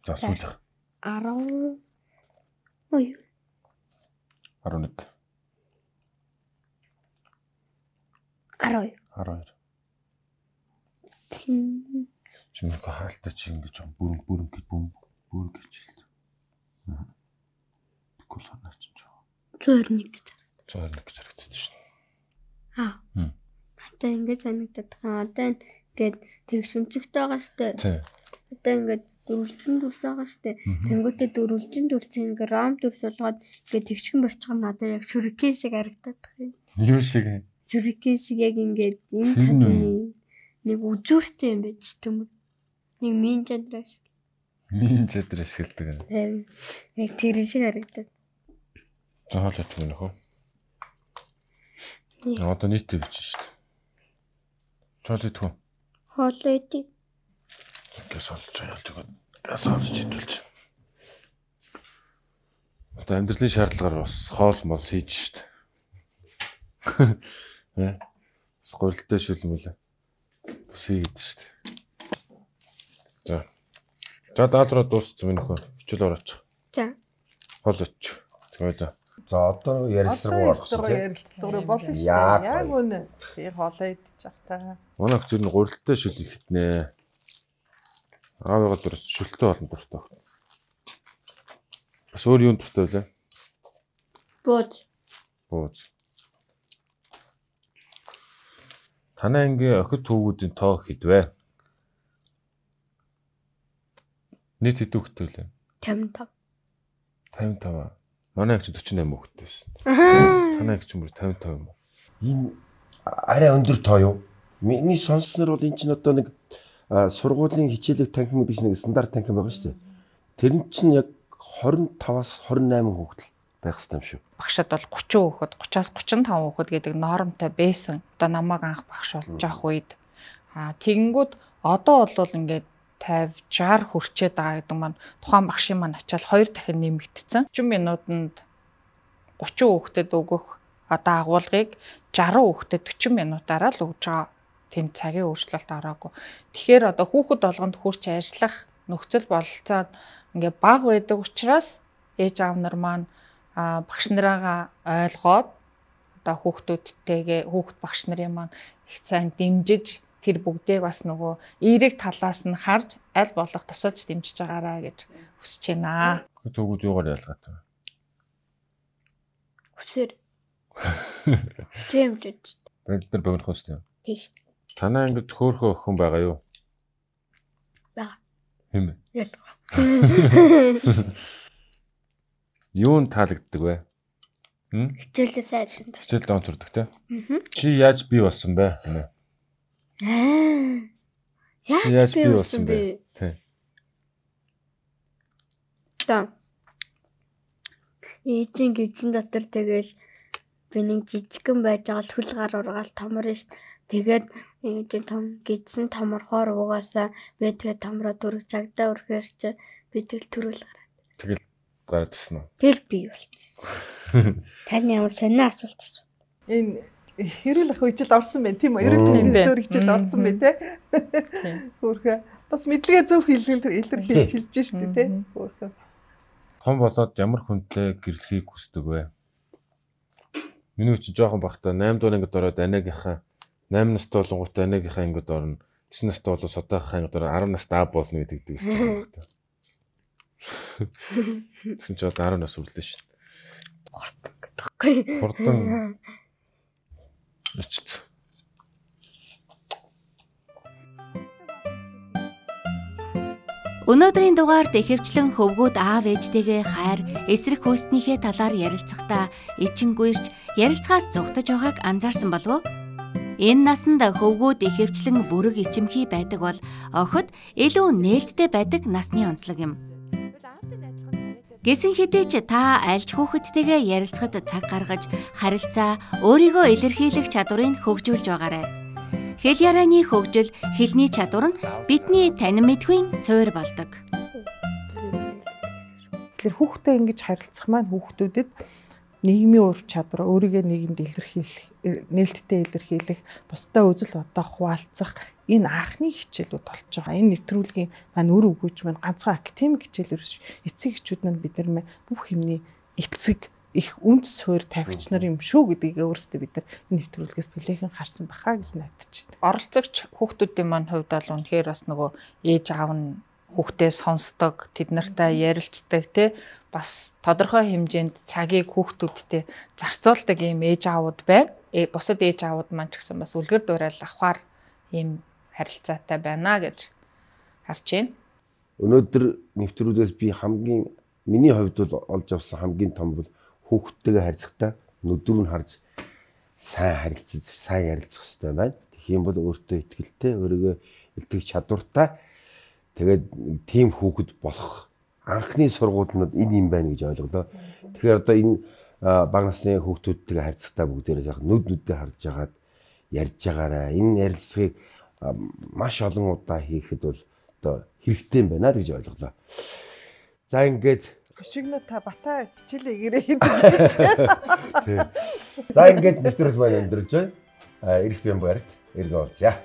За сүүлх. арав Ой. арван нэг. арав арван хоёр. Тин. Чиний хаалтаа чи ингэж бүрэн бүрэн гэж бүм бүр гэж хэлдэг. Аа. Тэгвэл ханаач ч. зөөр нэг гэж. зөөр нэг гэж харагддаг шин. Аа. Хм. Одоо ингэ санагдаад байгаа. Одоо ингээд тэг шүнцэгтэй байгаа штэ. Тий. Одоо ингээд дөрвөлжин дүрс байгаа штэ. Тэнгүүтээ дөрвөлжин дүрс ингээ ром дүрс болгоод ингээ тэгшгэн борчгоо надад яг шүркен шиг харагдаад байгаа юм. Юу шиг? Шүркен шиг яг ингээд энэ тазны нэг үзүүртэй юм байж төмөр. Нэг мин чадраш. Мин чадраш хэлдэг. Тийм. Яг тэр шиг харагдаад. За хоол ятг юм нөхөө. Одоо нийтээ бичсэн шүү дээ. Чоол идэх үү? Хоол идэх. Гэс олж ялж өгöd. Газ олж идүүлж. Одоо амьдралын шаардлагаар бас хоол мол хийж шүү дээ. Э? Скорлтой шүлмэл. Бас хийгээд шүү дээ. За. За даалруу дууссан минь нөхөө. Хичээл орооч. За. Хоол оч. Тэгээд за одоо ярилцлага орсон тийм. Ярилцлага болно шүү дээ. Яг үнэ. Би хоолоо идчих та. Манай хөтөр нь гурилтай шүл ихтнэ. Аавыгаа дурс шүлтэй болно дуртай. Бас өөр юунд дуртай вэ? Бууз. Бууз. Танай ангийн охид хүүгүүдийн тоо хэдвэ? Нийт хэд хүүхэдтэй вэ? тавин тав. тавин тав. Манай эгч дөрвөн восемь хүүхэдтэй байсан. Танай эгч мөр тавин тав юм уу? Энэ арай өндөр тоо юу? Миний сонссноор бол эн чинь одоо нэг сургуулийн хичээлэг танхим гэдэг чинь нэг стандарт танхим байгаа шүү дээ. Тэр нь чинь яг двадцать пять-аас двадцать восемь хүүхэд байх хэрэгтэй юм шүү. Багшад бол тридцать хүүхэд, тридцать-аас тридцать пять хүүхэд гэдэг нормтой байсан. Одоо намайг анх багш болж авах үед аа тэгэнгүүт одоо бол ингээд пятьдесят, шестьдесят хүрчээд байгаа гэдэг маань тухайн багшийн маань ачаал хоёр дахин нэмэгдсэн. тридцать минутанд гучин хүүхдэд өгөх одоо агуулгыг шестьдесят хүүхдэд forty минутаараа л өгж байгаа. Тэнд цагийн өөрчлөлт ороогүй. Тэгэхээр одоо хүүхэд болгонд хурц ажиллах нөхцөл бололцоод ингээ бага байдаг учраас ээж аав нар маань багш нараа ойлгоод одоо хүүхдүүдтэйгээ хүүхд багш нарын маань их сайн дэмжиж тэр бүгдийг бас нөгөө эерэг талаас нь харж аль болох тусалж дэмжиж байгаараа гэж хүсэж байна. Төгүүд юугаар ялгаатай вэ? Хүсэр. Тийм ч. Бид нар богино хөстэй. Тийш. Танаа ингэж хөөхөө охин байгаа юу? Бага. Хэм. Ялгаа. Юунд таалагддаг вэ? Хм? Хичээлээ сайдан таа. Хичээлд онцордог те. Аа. Чи яаж бий болсон бэ? Аа. Яаж бий болсон бэ? Тий. Та. Эцэг гидсэн дотор тэгэл би нэг жижигхэн байж байгаа л хүл гар ургаал томор ш. Тэгээд энэ том гидсэн томорхоор угаасаа би тэгээд томроо дөрөв цагдаа өрхөөр чи би тэгэл төрөл гараад. Тэгэл гараад ирсэн үү? Тэгэл би болчихсон. Таны ямар сонио асуулт асуу. Энэ хэрэл ах үечд орсон байна тийм үү? Ерөнхий төвсөр хичээд орсон байна те. Хөөхөө бас мэдлэгээ зөв хэлэл илэрхийлж хэлж штэ те. Хөөхөө. Том болоод ямар хүнтэй гэрлэхийг хүсдэг вэ? Миний чи жоохон бахта eight дугаар ангид ороод анаагийнхаа eight настай болонгуудаа анаагийнхаа ангид орно. nine настай болоод содоохоо ангид ороод ten настай аа болно гэдэг дий шүү дээ. Тэгсэн чи одоо ten нас үрлээ шүү. Хурдан гэдэггүй. Хурдан. Ичц. Өнөөдрийн дугаард ихэвчлэн хөвгүүд аав ээжтэйгээ хайр, эсрэг хүйстнийхээ талаар ярилцахдаа ичингүйрч ярилцахаас зугтаж байгааг анзаарсан болов уу? Энэ насанд хөвгүүд ихэвчлэн бүрэг ичимхий байдаг бол охид илүү нээлттэй байдаг насны онцлог юм. Гэсэн хэдий ч та альж хүүхэдтэйгээ ярилцахад цаг гаргаж харилцаа, өөрийгөө илэрхийлэх чадварыг хөгжүүлж байгаарай. Хэл ярианы хөгжил, хэлний чадвар нь бидний танин мэдхийн суурь болдог. Тэгэхээр хүүхдээ ингэж харилцах маань хүүхдүүдэд нийгмийн ур чадвар, өөрийгөө нийгэмд илэрхийлэх, нээлттэй илэрхийлэх, бусдаа үзэл бодоо хуваалцах энэ анхны хичээлүүд болж байгаа. Энэ нэвтрүүлгийн маань өр өгөөж маань ганцхан академик хичээлээр эцэг эхчүүд нь бид нар бүх юмний эцэг их үнд суурь тавьгч нар юм шүү гэдгийг өөрсдөө бид нар энэ нэвтрүүлгээс бүлэхэн харсан бахаа гэж найдаж байна. Оролцогч хүүхдүүдийн маань хувьд бол үнэхээр бас нөгөө ээж аав нь хүүхдээ сонсдог, тэд нартай ярилцдаг тий бас тодорхой хэмжээнд цагийг хүүхдүүдтэй зарцуулдаг ийм ээж аавууд байна. Э бусад ээж аавууд маань ч гэсэн бас үлгэр дуурайл авахар ийм харилцаатай байна гэж харж байна. Өнөөдөр нэвтрүүлгээс би хамгийн миний хувьд бол олж авсан хамгийн том бол хүүхдтэйгээ харьцахдаа нүдүр нь харж сайн харилцаж, сайн ярилцах хэрэгтэй байна. Тэгэх юм бол өөртөө итгэлтэй, өөрийгөө илтгэх чадвартай тэгээд тийм хүүхэд болох анхны сургуулиуд энэ юм байна гэж ойлголоо. Тэгэхээр одоо энэ бага насны хүүхдүүдтэйгээ харьцахдаа бүгдээрээ яг нүд нүдээ харж агаад ярьж байгаараа энэ ярилцлагыг маш олон удаа хийхэд бол одоо хэрэгтэй юм байна гэж ойлголоо. За ингээд Хошигно та бата хичээлээ гэрээ хийдэг гэж. За ингээд нэвтрүүлэг маань өндөрлж байна. Ирэх юм барьт эргэн уулзъя.